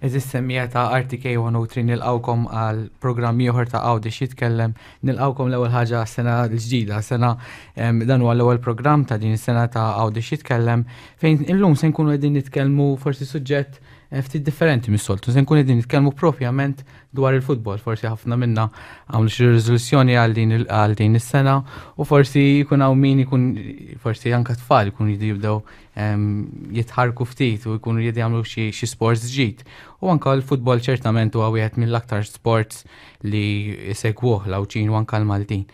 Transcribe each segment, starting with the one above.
Għeżież semmiegħa ta' RTK 103 nilqgħukom għal programm ieħor ta' Għawdex jitkellem. Nilqgħukom l-ewwel ħaġa għas-sena l-ġdida, sena dan huwa l-ewwel programm ta' din is-sena ta' Għawdex jitkellem fejn illum se nkunu qegħdin nitkellmu forsi suġġett eh, ftit differenti mis-soltu, se nkunu qegħdin nitkellmu propjament dwar il-futbol, forsi ħafna minna għamlu xi riżoluzzjoni għal din is-sena u forsi jkun hawn min ikun forsi anke tfal ikun jibdew jitħarku ftit u jkunu jridu jagħmlu xi sports ġdid. U anke l-futbol ċertament huwa wieħed mill-aktar sports li jsegwuh l-Għawdxin u anke l-Maltin.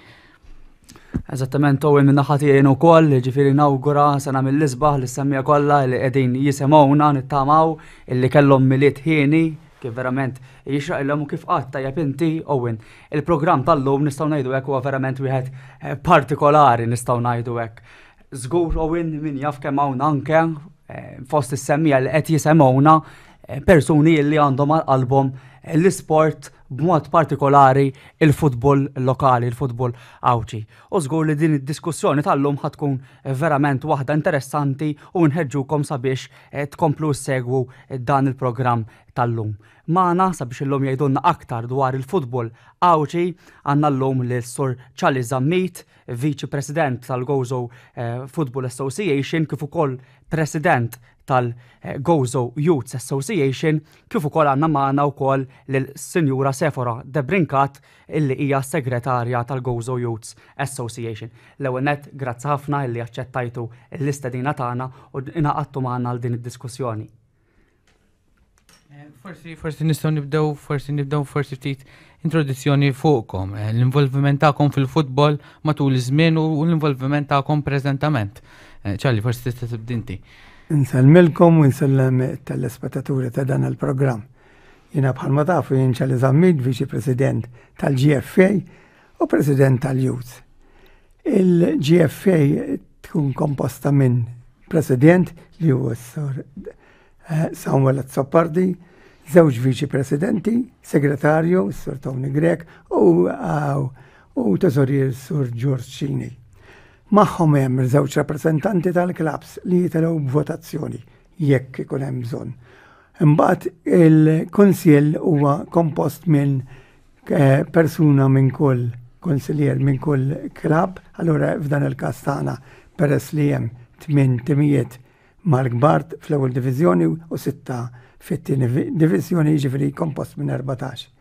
Eżattament, Owen minn naħa tiegħi ukoll, ġifieri nawgura sena mill-isbaħ li semmija kollha li qegħdin jisimgħuna nittamaw illi kellhom milied ħieni kif verament jixraqilhom u kif qatt tajjeb inti Owen. Il-programm tal-lum nistgħu ngħidu hekk huwa verament wieħed eh, partikolari nistgħu ngħidu hekk. Żgur Owen min jaf kemm hawn anke eh, fost is-semmija li qed jisemgħuna eh, persuni li għandhom għal qalbhom eh, l-isport b'mod partikolari il-futbol lokali, il-futbol Għawdxi. U żgur li din id-diskussjoni tal-lum ħa tkun verament waħda interessanti u nħeġġukom sabiex tkomplu ssegwu dan il-programm tal-lum. Magħna sabiex illum jgħidulna aktar dwar il-futbol Għawdxi għandna llum lil Sur Charlie Zammit, Viċi President tal-Gozo eh, Football Association kif ukoll President tal-Gozo Youth Association kif ukoll għandna magħna wkoll lil-Sinjura Sefora Debrincat illi hija segretarja tal-Gozo Youth Association. L-ewwel nett grazzi ħafna illi aċċettajtu l-istedina tagħna u ingħaqadtu magħna għal din id-diskussjoni. Eh, forsi, forsi nistgħu nibdew, forsi nibdew forsi ftit introduzzjoni fuqkom, eh, l-involviment tagħkom fil-futbol matul iż-żmien u l-involviment tagħkom preżentament. Eh, Ċarli, forsi tista' tibdinti. Insellmilkom u nsellem telespettaturi ta' dan il-programm. Jiena bħalma tafu jien Ċarli Zammit, Viċi President tal-GFA u President tal-Youth. Il-GFA tkun komposta minn President li huwa s-sur eh, Samuel Azzopardi, żewġ viċi presidenti, segretarju, s-Sur Tony Grech, u, eh, u teżorier Sur George Cini. Magħhom hemm żewġ rappreżentanti tal-klabs li jitilgħu b'votazzjoni jekk ikun hemm bżonn. Imbagħad il-kunsill huwa kompost minn eh, persuna minn kull konsiljer minn kull klab, allura f'dan il-każ tagħna peress li hemm tmien timijiet mal-kbar fl-ewwel diviżjoni u sitta fit-tieni diviżjoni jiġifieri kompost minn 14.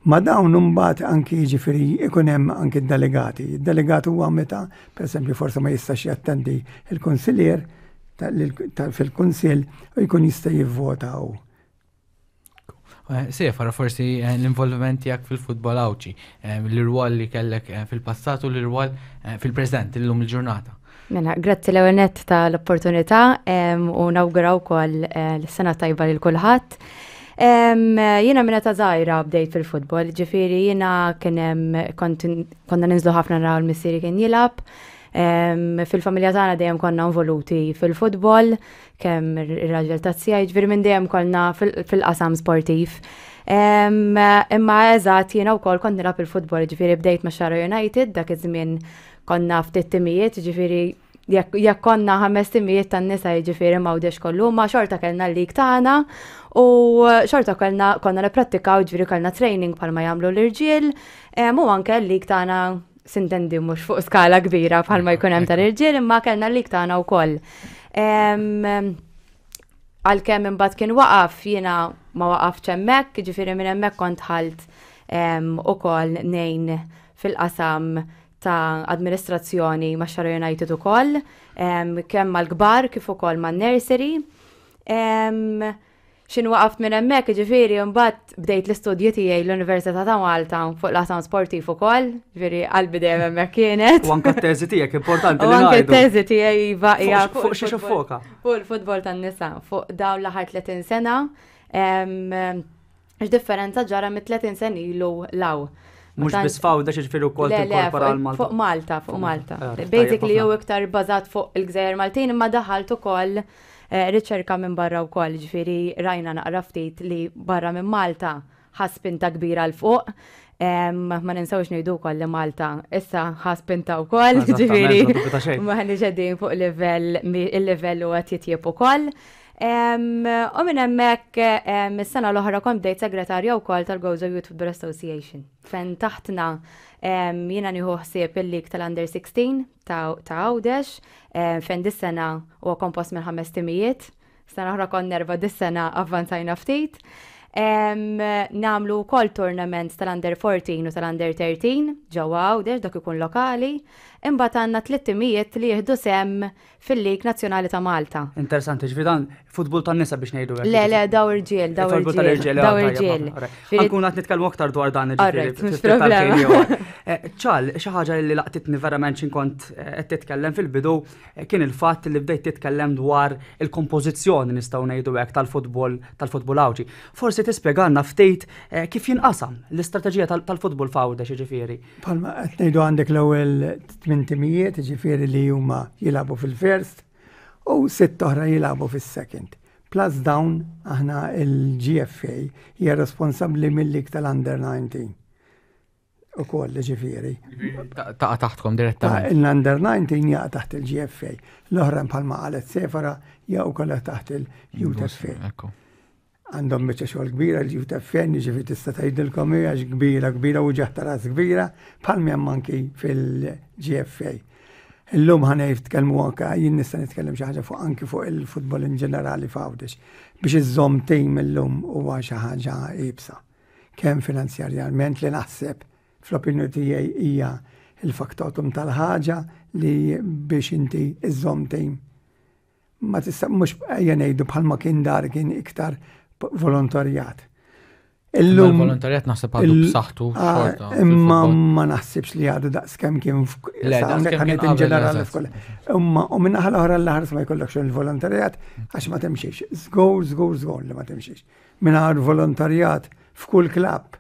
Ma dawn imbagħad anki jiġifieri ikun hemm anki d-delegati. Id-delegat huwa meta, pereżempju, forsi ma jistax jattendi il-kunsillier fil-kunsill u jkun jista' jivvota hu. Eh, Sefara forsi eh, l-involviment tiegħek fil-futbol Għawdxi, eh, l-irwol li kellek fil-passat u l-irwol fil-preżent illum il-ġurnata. Mela, grazzi l nett tal-opportunità u nawguraw wkoll l-sena tajba lil kulħadd. Jiena minna ta' żgħira bdejt fil-futbol, ġifieri jiena kien hemm konna ninżlu ħafna naraw l-missieri kien jilgħab. Fil-familja tagħna dejjem konna involuti fil-futbol, kemm ir-raġel ta' zija, jiġifieri minn dejjem konna fil-qasam sportiv. Imma eżatt jiena wkoll kont nilgħab il-futbol, jiġifieri bdejt ma' Xara United dak iż-żmien konna ftit timijiet, jiġifieri jekk konna ħames timijiet tan-nisa jiġifieri m'għawdex kollu, ma xorta kellna l-lig tagħna u xorta kellna konna nipprattikaw jiġifieri kellna training bħalma jagħmlu l-irġiel u anke l-lig tagħna sintendi mhux fuq skala kbira bħalma jkun hemm tal-irġiel imma kellna l-lig tagħna wkoll. Għalkemm imbagħad kien waqaf jiena ma waqafx hemmhekk, jiġifieri minn hemmhekk kont ħalt ukoll ngħin fil-qasam ta' amministrazzjoni ma' Xara United ukoll, kemm mal-kbar kif ukoll man-nursery. X'in waqaft minn hemmhekk, jiġifieri mbagħad bdejt l-istudji tiegħi l-Università ta' Malta fuq l-qasam sportiv ukoll, jiġifieri qalbi dejjem hemmhekk kienet. U anke t-teżi tiegħek importanti li ngħidu. Anke t-teżi tiegħi iva hija fuq xi foka. Fuq il-futbol tan-nisa, fuq dawn l-aħħar 30 sena. X'differenza ġara mit-30 sena ilu law. Mhux biss f'Għawdex jiġifieri wkoll tinkorpora l-Malta. Fuq Malta, fuq Malta. Eh, Basically jew iktar bażat fuq il-Gżejjer Maltin imma daħalt ukoll eh, riċerka minn barra wkoll, ġifieri rajna naqra ftit li barra minn Malta ħa spinta kbira l fuq. Ma ninsawx ngħidu wkoll li Malta issa ħa spinta wkoll, ġifieri ma ħniex qegħdin fuq livell il-livell huwa titjib ukoll. U minn hemmhekk is-sena l-oħra kont bdejt segretarja wkoll tal-Gozo Youth Football Association. Fejn taħtna jiena nieħu ħsieb il-lig tal-Under 16 ta' Għawdex, fejn dis-sena huwa kompost minn ħames timijiet. Sena oħra konna erba' dis-sena avvanzajna ftit. Nagħmlu wkoll tournaments tal-Under 14 u tal-Under 13 ġewwa Għawdex dak ikun lokali. Imbagħad għandna tliet timijiet li jieħdu sehem fil-Lig Nazzjonali ta' Malta. Interessanti, ġifieri dan futbol tan-nisa biex ngħidu hekk. Le, le, daw irġiel, daw irġiel, daw irġiel. Ħankun qed nitkellmu aktar dwar dan ġifieri. Eh, ċal, xi ħaġa li laqtitni verament x'inkont eh, qed titkellem fil-bidu kien il-fatt li bdejt titkellem dwar il-kompożizzjoni nistgħu ngħidu hekk tal-futbol tal-futbol Għawdxi. Forsi tispjegalna ftit eh, kif jinqasam l-istrateġija tal-futbol f'Għawdex jiġifieri. Bħalma qed ngħidu għandek l-ewwel tmien timijiet, jiġifieri li huma jilagħbu fil-first u sitt oħra jilagħbu fis-second. Plus dawn aħna il-GFA hija responsabbli mill-lig tal-under 19. Ukoll ġifieri. Taqa' taħtkom direttament. Il-under 19 jaqa' taħt il-GFA. L-oħra bħalma qalet Sefora jaqgħu kollha taħt il-UTFA. Għandhom biċċa xogħol kbira l-UTFA, jiġifieri tista' tgħidilkom hi għax kbira kbira u ġeħ ta' ras kbira bħal hemm anki fil-GFA. Illum ħa nitkellmu anke jien nista' nitkellem xi ħaġa fuq anki fuq il-futbol in ġenerali f'Għawdex biex iżżomm tim illum huwa xi ħaġa iebsa. Kemm finanzjarjament li naħseb fl-opinjoni tiegħi hija il-faktotum tal-ħaġa li biex inti iżżomm tim ma tista' mhux ejja ngħidu bħalma kien dar kien iktar volontarjat. Illum volontarjat naħseb għadu b'saħħtu ah, xorta. Imma ma naħsibx li għadu daqs kemm kien in ġenerali f'koll. Imma u minn naħa l-oħra l-ħars ma jkollokx il-volontarjat għax ma timxiex. Żgur, żgur, żgur li ma timxiex. Mingħajr volontarjat f'kull klabb.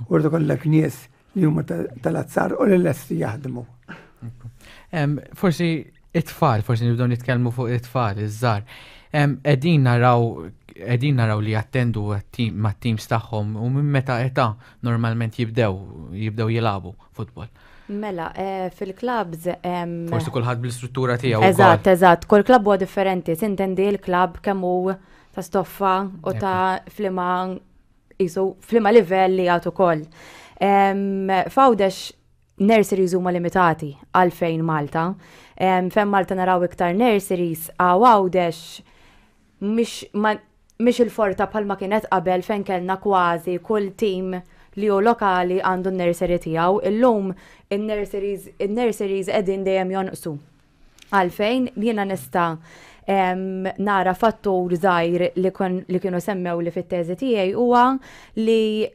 U rridu kollek nies li huma tal-azzar u li lesti jaħdmu. Forsi it-tfal, forsi nibdew nitkellmu fuq it-tfal, iż-żgħar. Qegħdin naraw qegħdin naraw li jattendu mat-teams tagħhom u minn meta età normalment jibdew jibdew jilagħbu futbol. Mela, eh, fil-klabs. Forsi kulħadd bl-istruttura tiegħu. Eżatt, eżatt, kull klabb huwa differenti, sintendi l-klabb kemm hu ta' stoffa u ta' flima jisu flima livell li għatu koll. Fawdex nurseries huma limitati għalfejn Malta. Fejn Malta naraw iktar nurseries għaw Għawdex mhix il-forta bħalma kienet qabel fejn kellna kważi kull tim li hu lokali għandu n-nursery tiegħu. Illum in-nurseries in-nurseries qegħdin dejjem jonqsu. Għalfejn jiena nista' nara fattur żgħir li li kienu semmew li fit-teżi tiegħi huwa li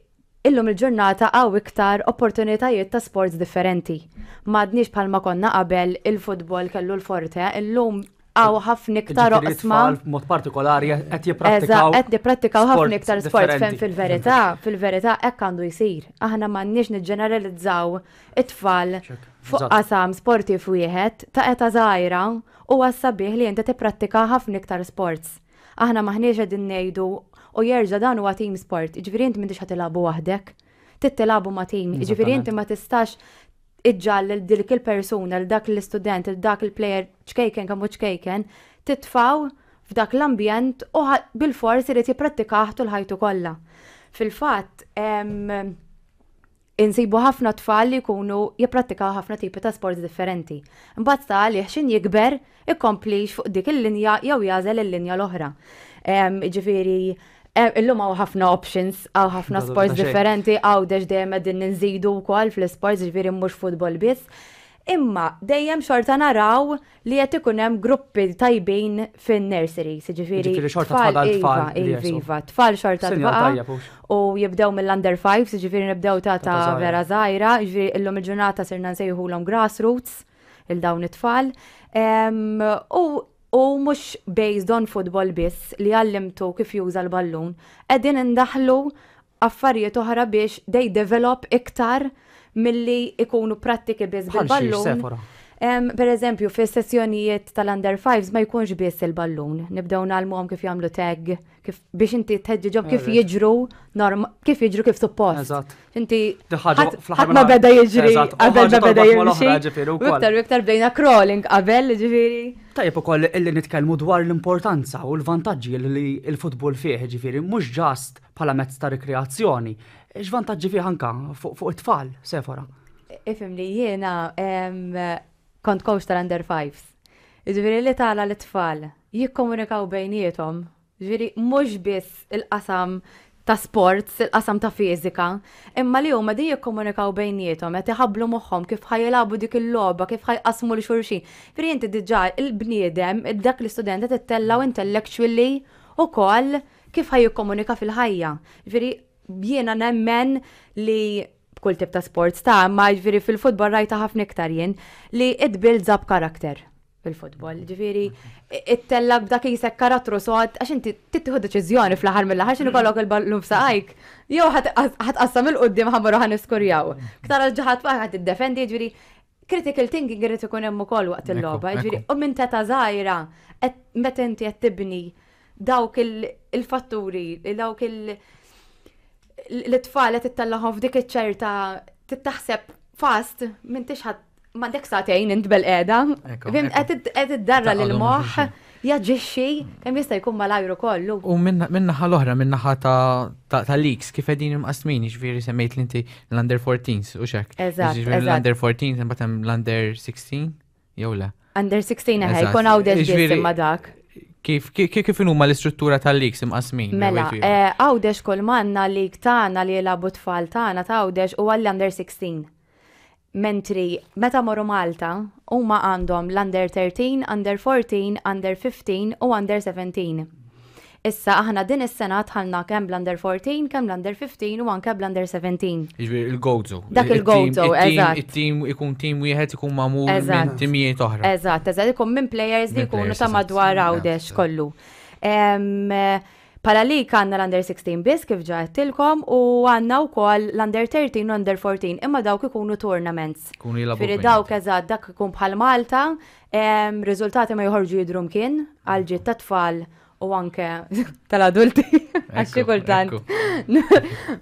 illum il-ġurnata hawn iktar opportunitajiet ta' sports differenti. M'għadniex bħalma konna qabel il-futbol kellu l-forte, illum hawn ħafna iktar oqsma. Mod partikolari qed jipprattikaw. Qed jipprattikaw ħafna iktar sport fejn fil-verità, fil-verità hekk għandu jsir. Aħna m'għandniex niġġeneralizzaw it-tfal fuq qasam sportiv wieħed ta' età żgħira huwa sabiħ li inti tipprattika ħafna iktar sports. Aħna m'aħniex qegħdin ngħidu u jerġa' dan huwa team sport, jiġifieri inti m'intix ħa tilagħbu waħdek. Trid tilagħbu ma' team, jiġifieri inti ma tistax iġġal lil dik il-persuna, lil dak l-istudent, lil dak il-player ċkejken kemm hu ċkejken, titfgħu f'dak l-ambjent u bilfors irid jipprattikah tul ħajtu kollha. Fil-fatt, Insibu ħafna tfal li jkunu jipprattikaw ħafna tipi ta' sports differenti. Imbagħad sta għalih x'in jikber ikomplix fuq dik il-linja jew jagħżel il-linja l-oħra. Jiġifieri illum hawn ħafna options, hawn ħafna sports differenti, Għawdex dejjem qegħdin inżidu wkoll fl-isports, jiġifieri mhux futbol biss. Imma dejjem xorta naraw li qed ikun hemm gruppi tajbin fin-nurseries, jiġifieri. Jiġifieri xorta tfal tfal. Iva, iva, iva, tfal xorta tbaqa' u jibdew mill-under fives, jiġifieri nibdew ta' ta' vera żgħira, jiġifieri illum il-ġurnata sirna nsejħulhom grassroots il dawn it-tfal. U u mhux based on football biss li għallimtu kif juża l-ballun, qegħdin indaħħlu affarijiet oħra biex they develop iktar milli ikunu prattiki biss bil-ballun. Per eżempju, fis sessjonijiet tal-under fives ma jkunx biss il-ballun. Nibdew ngħallmuhom kif jagħmlu tag, kif biex inti tħeġġiġhom kif jiġru norm, kif jiġru kif suppost. Eżatt. Inti Di ħaġa ħadd fl-aħħar ħadd ma mill-aħħar- beda jiġri Eżatt, u qabel ħaġa ma beda torbot mal-oħra, jimxi. ġifieri U wkoll. iktar u iktar bdejna crawling qabel, ġifieri. Tajjeb ukoll illi nitkellmu dwar l-importanza u l-vantaġġi li l-futbol fih, ġifieri mhux just bħala mezz ta' rikreazzjoni. X'vantaġġi fih anka fuq it-tfal, Sefora? Ifhimni jiena kont coach tal-under fives. Ġifieri li tara l-tfal jikkomunikaw bejniethom, ġifieri mhux biss il-qasam ta' sports, il-qasam ta' fiżika, imma li huma din jikkomunikaw bejniethom, qed iħabblu moħħhom kif ħa jilagħbu dik il-logħba, kif ħa jqasmu lil xulxin. Ġifieri inti diġà il-bniedem, dak l-istudent qed ittellgħu intellectually ukoll kif ħa jikkomunika fil-ħajja. Ġifieri jiena nemmen li b'kull tip ta' sports ta' ma ġifieri fil-futbol rajta ħafna iktar jien li it builds up character fil-futbol. Ġifieri ittellak b'dak jisek karattru sod għax inti tittieħu deċiżjoni fl-aħħar mill-aħħar x'inhu kollok il-ballun f'saqajk. Jew ħa tqassam 'il quddiem ħa mmorru ħa niskurjaw. Ktara ġaħat ħa tiddefendi, ġifieri critical thinking irid ikun hemm ukoll waqt il-logħba. Ġifieri u minn teta żgħira meta inti qed tibni dawk il-fatturi, dawk l-tfal qed ittellahom f'dik iċ-ċerta taħseb fast m'intix ħadd m'għandek sagħtejn int bil-qiegħda. Ekku. Qed iddarra Taqgħodhom lil moħħ xulxin. jaġixxi kemm jista' jkun malajru kollu. U minnaħa l-oħra, minnaħa ta' leagues, kif qegħdin imqasmin, ġifieri semmejt li inti l-under 14s, u xek. Eżatt, Ġifieri eżatt. l-under 14, imbagħad hemm l-under 16, jew le? Under 16 eħe, Eżatt. jkun Għawdex biss Ġifieri imma dak. Kif huma l-istruttura tal-leagues imqasmin? Mela, Wait, wait. Għawdex kull m'għandna league tagħna li jilagħbu tfal tagħna ta' Għawdex u għall-under 16. Mentri meta morru Malta, huma għandhom l-under 13, under 14, under 15 u under 17. Issa aħna din is-sena dħalna kemm bl-under 14, kemm l-under 15 u anke bl-under 17. Jiġifieri il-Gozo. Dak il-Gozo, eżatt. Il-team ikun team wieħed ikun magħmul minn timijiet oħra. Eżatt, ikun minn players li Minn jkunu players, ta' madwar Għawdex kollu. Bħala li għandna l-under 16 biss kif ġa għedtilkom u għandna wkoll l-under 13 u under 14 imma dawk ikunu tournaments. Ikunu jilagħbu Ġifieri bejn. dawk eżatt dak ikun bħal Malta, riżultati ma joħorġu jidhru mkien għal ġid ta' tfal u anke tal-adulti. Għax xi kultant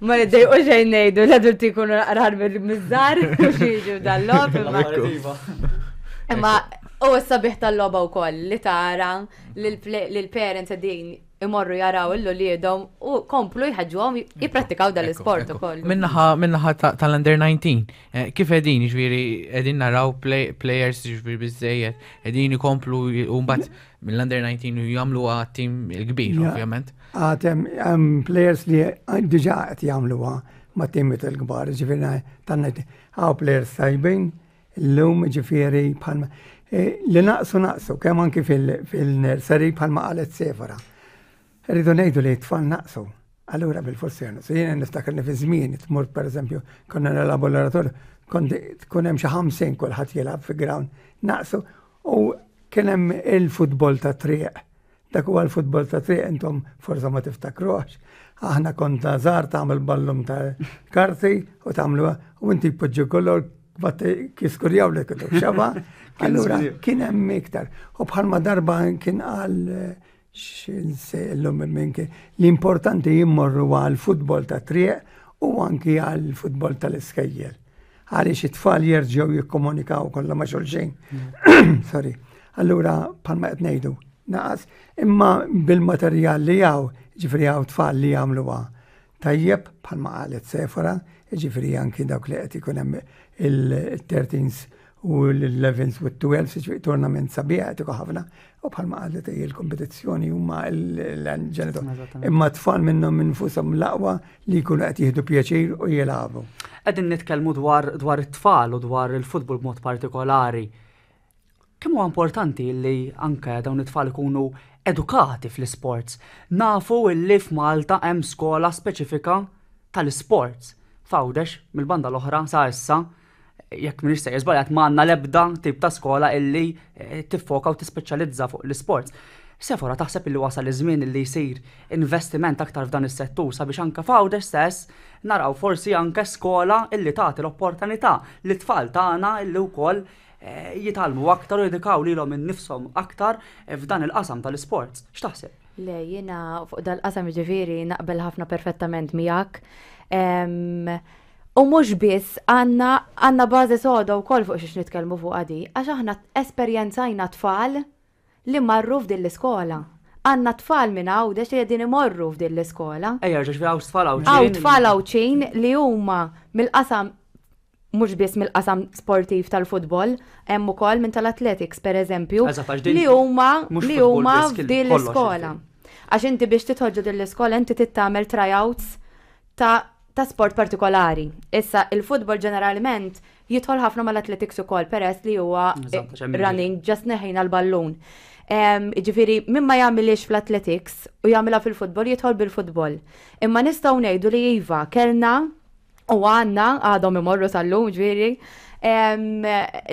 ma niddejqu xejn ngħidu l-adulti jkunu naqrar miż-żgħar u xi jiġu dal-logħob, imma u s-sabiħ tal-logħba wkoll li tara lil parents qegħdin imorru jaraw l-uliedhom u komplu jħeġġuhom jipprattikaw dal-isport ukoll. Minnaħa tal-under 19, kif qegħdin, ġifieri qegħdin naraw players ġifieri biżejjed, qegħdin ikomplu u mbagħad mill-under 19 u jagħmlu team il-kbir, ovvjament. Għatem, hemm players li diġà qed jagħmluha ma' timiet il-kbar, ġifieri tanna hawn players tajbin, illum ġifieri bħalma li naqsu naqsu kemm anki fil-nursery bħalma qalet Sefora. Rridu ngħidu li t-tfal naqsu. Allura bil-forsi naqsu. Jiena niftakarni fi żmien tmur pereżempju konna nilagħbu l-oratorju, kont tkun hemm xi 50 kulħadd jilgħab fi ground. Naqsu u kien hemm il-futbol ta' triq. Dak huwa l-futbol ta' triq intom forsa ma tiftakruhx. Aħna konta żgħar tagħmel ballum ta' karti u tagħmlu u inti jpoġġu kollu kiskurjaw li kienu xaba. Allura kien hemm iktar. U bħalma darba kien qal x'nsellum minn kien l-importanti jimmorru għal futbol ta' triq u anki għal futbol tal-iskejjel. Għaliex it-tfal jerġgħu jikkomunikaw kollha ma' xulxin. Sorry. Allura bħalma qed ngħidu naqas, imma bil-materjal li hawn, ġifieri hawn tfal li jagħmluha tajjeb bħalma qalet Sefora, ġifieri anki dawk li qed ikun hemm il-13s u l-11s u l-12s, ġifieri tournament sabiħ qed ikun ħafna, u bħalma qalet hi l-kompetizzjoni huma l-ġenitur. Imma tfal minnhom infushom l-aqwa li jkunu qed jieħdu pjaċir u jilagħbu. Qegħdin nitkellmu dwar it-tfal u dwar il-futbol b'mod partikolari. Kemm huwa importanti li anke dawn it-tfal ikunu edukati fl-sports? Nafu li f'Malta hemm skola speċifika tal-sports. F'Għawdex, mill-banda l-oħra sa issa, jekk m'iniex sejjer żbaljat m'għandna l-ebda tip ta' skola illi tiffoka u tispeċjalizza fuq l-sports. Sefora, taħseb illi wasal iż-żmien illi jsir investiment aktar f'dan is-settur sabiex anke f'Għawdex stess naraw forsi anke skola illi tagħti l-opportunità li tfal tagħna illi wkoll jitgħallmu aktar u jedikaw lilhom innifshom aktar f'dan il-qasam tal-isports. X'taħseb? Le, jiena fuq dal-qasam ġifieri naqbel ħafna perfettament miegħek. U mhux biss għandna għandna bażi soda wkoll fuq xiex nitkellmu fuq għadi, għax aħna esperjenzajna tfal li marru f'din l-iskola. Għandna tfal minn Għawdex li qegħdin imorru f'din l-iskola. Ejja, ġifieri hawn tfal Għawdxin. Hawn tfal Għawdxin li huma mill-qasam mhux biss mill-qasam sportiv tal-futbol, hemm ukoll minn tal-athletics pereżempju, li huma li huma f'din l-iskola. Għax inti biex tidħol ġo din l-iskola inti trid tagħmel tryouts ta' ta' sport partikolari. Issa il-futbol ġeneralment jidħol ħafna mal-athletics ukoll peress li huwa running just neħejna l-ballun. Ġifieri min ma jagħmilix fl-athletics u jagħmilha fil-futbol jidħol bil-futbol. Imma nistgħu ngħidu li iva kellna u għandna għadhom imorru sal-lum ġifieri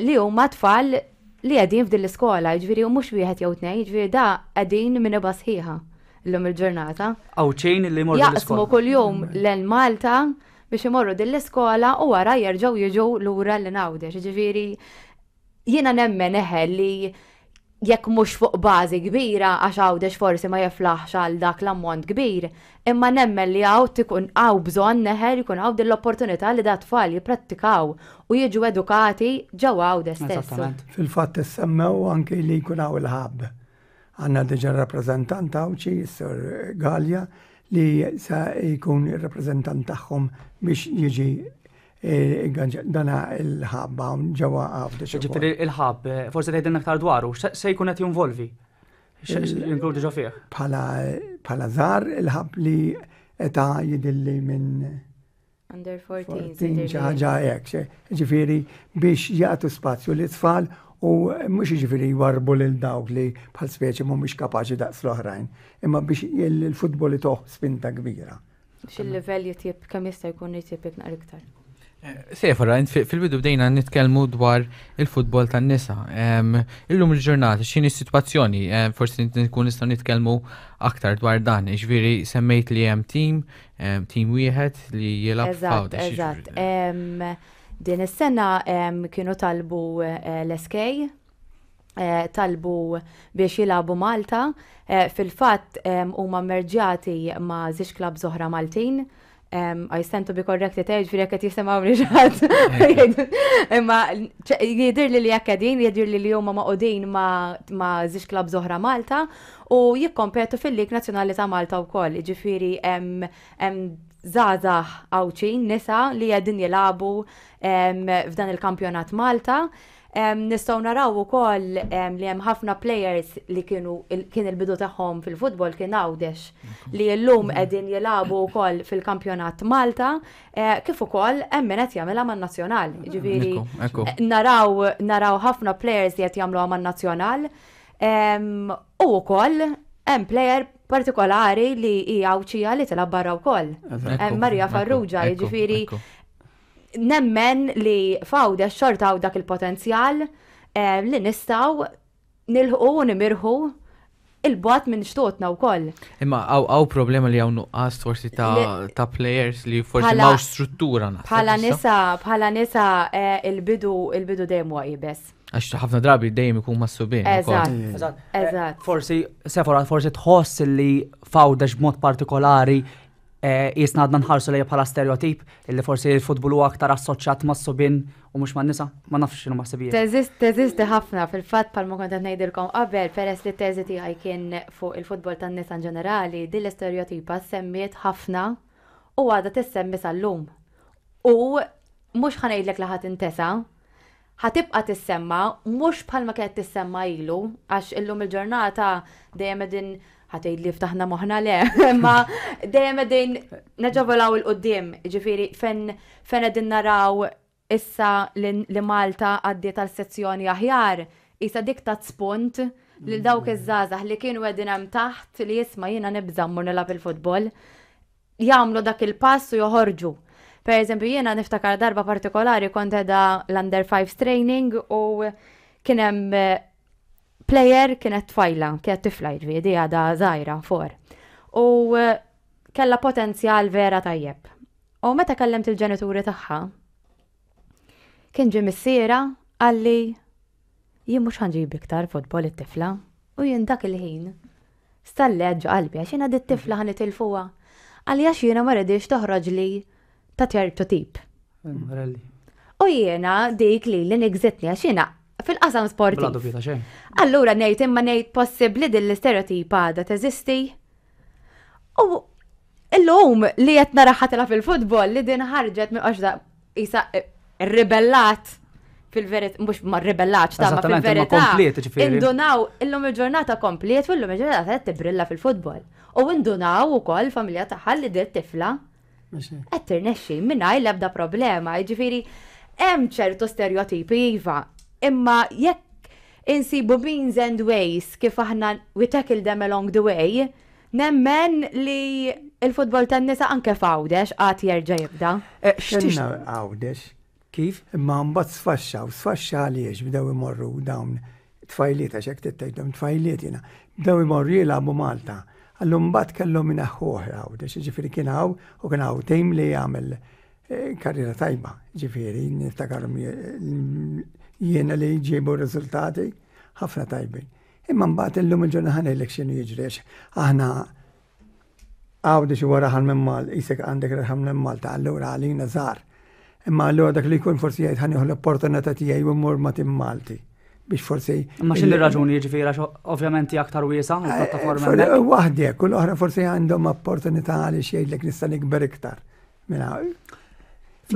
li huma tfal li qegħdin f'din l-iskola, ġifieri u mhux wieħed jew tnejn, ġifieri da qegħdin minn iba sħiħa llum il-ġurnata. Għawdxin li jmorru Jaqsmu kuljum lejn Malta biex imorru din l-iskola u wara jerġgħu jiġu lura lil Għawdex. Ġifieri jiena nemmen eħe li jekk mhux fuq bażi kbira għax Għawdex forsi ma jiflaħx għal dak l-ammont kbir, imma nemmen li hawn tikun hawn bżonn eħe li jkun hawn din l-opportunità li dat-tfal jipprattikaw u jiġu edukati ġewwa Għawdex stess. Eżattament. Fil-fatt issemmew anki li jkun hawn il-hub. Għandna diġà rappreżentant Għawdxi, is-Sur Galea, li se jkun ir-rappreżentant tagħhom biex jiġi dana il-ħab hawn ġewwa Għawdex. Ġifieri il-ħab, forsi tgħidilna aktar dwaru, se jkun qed jinvolvi? Jinkludi ġo fih? Bħala żgħar il-ħab li età jidilli minn Under 14. xi ħaġa hekk, ġifieri biex jagħtu spazju li tfal u mhux jiġifieri jwarbu lil dawk li bħal speċi mhumiex kapaċi daqs l-oħrajn, imma biex il-futbol itoh spinta kbira. Biex il-livell jitjieb kemm jista' jkun jitjieb naqra iktar. Sefora, fil-bidu bdejna nitkellmu dwar il-futbol tan-nisa. Illum il-ġurnata, x'inhi s-sitwazzjoni? Forsi nkun nistgħu nitkellmu aktar dwar dan. Ġifieri semmejt li hemm tim, tim wieħed li jilgħab f'Għawdex. Eżatt, eżatt. Din is-sena kienu talbu eh, l-SK, eh, talbu biex jilagħbu Malta. Eh, fil-fatt huma merġjati ma' żewġ klabbs oħra Maltin. I stand to be corrected, eh, ġifieri jekk qed jisimgħu xi ħadd. Imma jidir li li jekk qegħdin, jidir li li huma maqudin ma' żewġ klabbs oħra Malta u jikkompetu fil-Lig Nazzjonali ta' Malta wkoll. Ġifieri hemm żgħażagħ Għawdxin nisa li qegħdin jilagħbu f'dan il-kampjonat Malta. Nistgħu naraw ukoll li hemm ħafna players li kienu kien il-bidu tagħhom fil-futbol kien Għawdex li llum qegħdin jilagħbu wkoll fil-kampjonat Malta eh, kif ukoll hemm min qed jagħmilha man-nazzjonal. Ġifieri naraw naraw ħafna players li qed jagħmluha man-nazzjonal u wkoll hemm player partikolari li hija Għawdxija li tilgħab barra wkoll. Maria Farrugia, jiġifieri nemmen li f'Għawdex xorta hawn dak il-potenzjal eh, li nistgħu nilħqu u nimirħu il-bogħod minn xtutna wkoll. Imma hawn problema li hawn nuqqas forsi ta', ta players li forsi m'hawnx struttura naħseb. Bħala nisa, bħala nisa eh, il-bidu il-bidu dejjem huwa iebes. Għax ħafna drabi dejjem ikun mas-subien. Eżatt. Eżatt. Forsi, Sefora, forsi tħoss li f'Għawdex b'mod partikolari Qisna għadna nħarsu lejha bħala stereotip illi forsi l-futbol huwa aktar assoċjat mas-subien u mhux man-nisa. Ma nafx x'inhuma ħsibijiet. Teżisti ħafna fil-fatt bħalma kont qed ngħidilkom qabel peress li t-teżi tiegħi kien fuq il-futbol tan-nisa inġenerali, din l-istereotipa ssemmiet ħafna u għadha tissemmi sal-lum. U mhux ħa ngħidlek li ħa tintesa, ħa tibqa' tissemma mhux bħalma kienet tissemma ilu, għax illum il-ġurnata dejjem qegħdin ħa tgħidli ftaħna moħħna le, imma dejjem qegħdin neġevolaw 'il quddiem, jiġifieri fejn fejn qegħdin naraw issa li Malta għaddiet għal sezzjoni aħjar, qisha dik tat spunt lil dawk iż-żgħażagħ li kienu qegħdin hemm taħt li isma' jiena nibża' mmur nilgħab il-futbol. jagħmlu dak il-pass u joħorġu. Per eżempju, jiena niftakar darba partikolari kont edha l-under 5 training u kien hemm eh, player kienet tfajla, kienet tifla jiġifieri għadha żgħira for. U eh, kellha potenzjal vera tajjeb. U meta kellemt il-ġenituri tagħha, kien ġie missiera qalli. Jien mhux ħa nġib iktar futbol it-tifla. U jien dak il-ħin stallet ġo qalbi għax jiena dit-tifla ħa nitilfuha. Qalli għax jiena ma rridix toħroġli ta' ċertu tip. U jiena dik li li nigżitni għax jiena fil-qasam sportiv. Allura ngħid imma ngħid possibbli din l-istereotipa għadha teżisti. U illum li qed naraha tilgħab fil-futbol li din ħarġet minn għax isa eh, ribellat fil-verità, mhux ma ribellatx ta' ma fil-verità. Indunaw illum il-ġurnata kompliet u illum il-ġurnata qed tibrilla fil-futbol. U indunaw ukoll familja tagħha li dit tifla qed tirnexxi mingħajr l-ebda problema. Jiġifieri hemm ċertu stereotipi iva, imma jekk insibu means and ways kif aħna we tackle them along the way, nemmen li il-futbol tan-nisa anke f'Għawdex għad jerġa' jibda. Eh, X'tixna Għawdex? Kif? Imma mbagħad sfaxxa u sfaxxa għaliex bdew imorru dawn tfajliet għax hekk tgħidhom tfajliet jiena. Bdew imorru jilagħbu Malta. Allura mbagħad kellhom ineħħuh Għawdex, jiġifieri kien hawn u kien hawn tim li jagħmel eh, karriera tajba, ġifieri niftakarhom jiena li ġiebu riżultati ħafna tajbin. Imma mbagħad illum il-ġurnata ħa ngħidlek x'inhu jiġri għax aħna Għawdex huwa raħal minn Mal, isek għandek raħal minn Malta, allura għalina żgħar. Imma allura dak li jkun forsi jgħid ħa nieħu l-opportunità tiegħi u mmur ma' tim Malti biex forsi. Imma x'inhi raġuni jiġifieri għax ovvjament hija aktar wiesa eh, l-pjattaforma. Eh, waħdek, u l-oħra forsi għandhom opportunità għaliex jgħidlek nista' nikber iktar. Mela,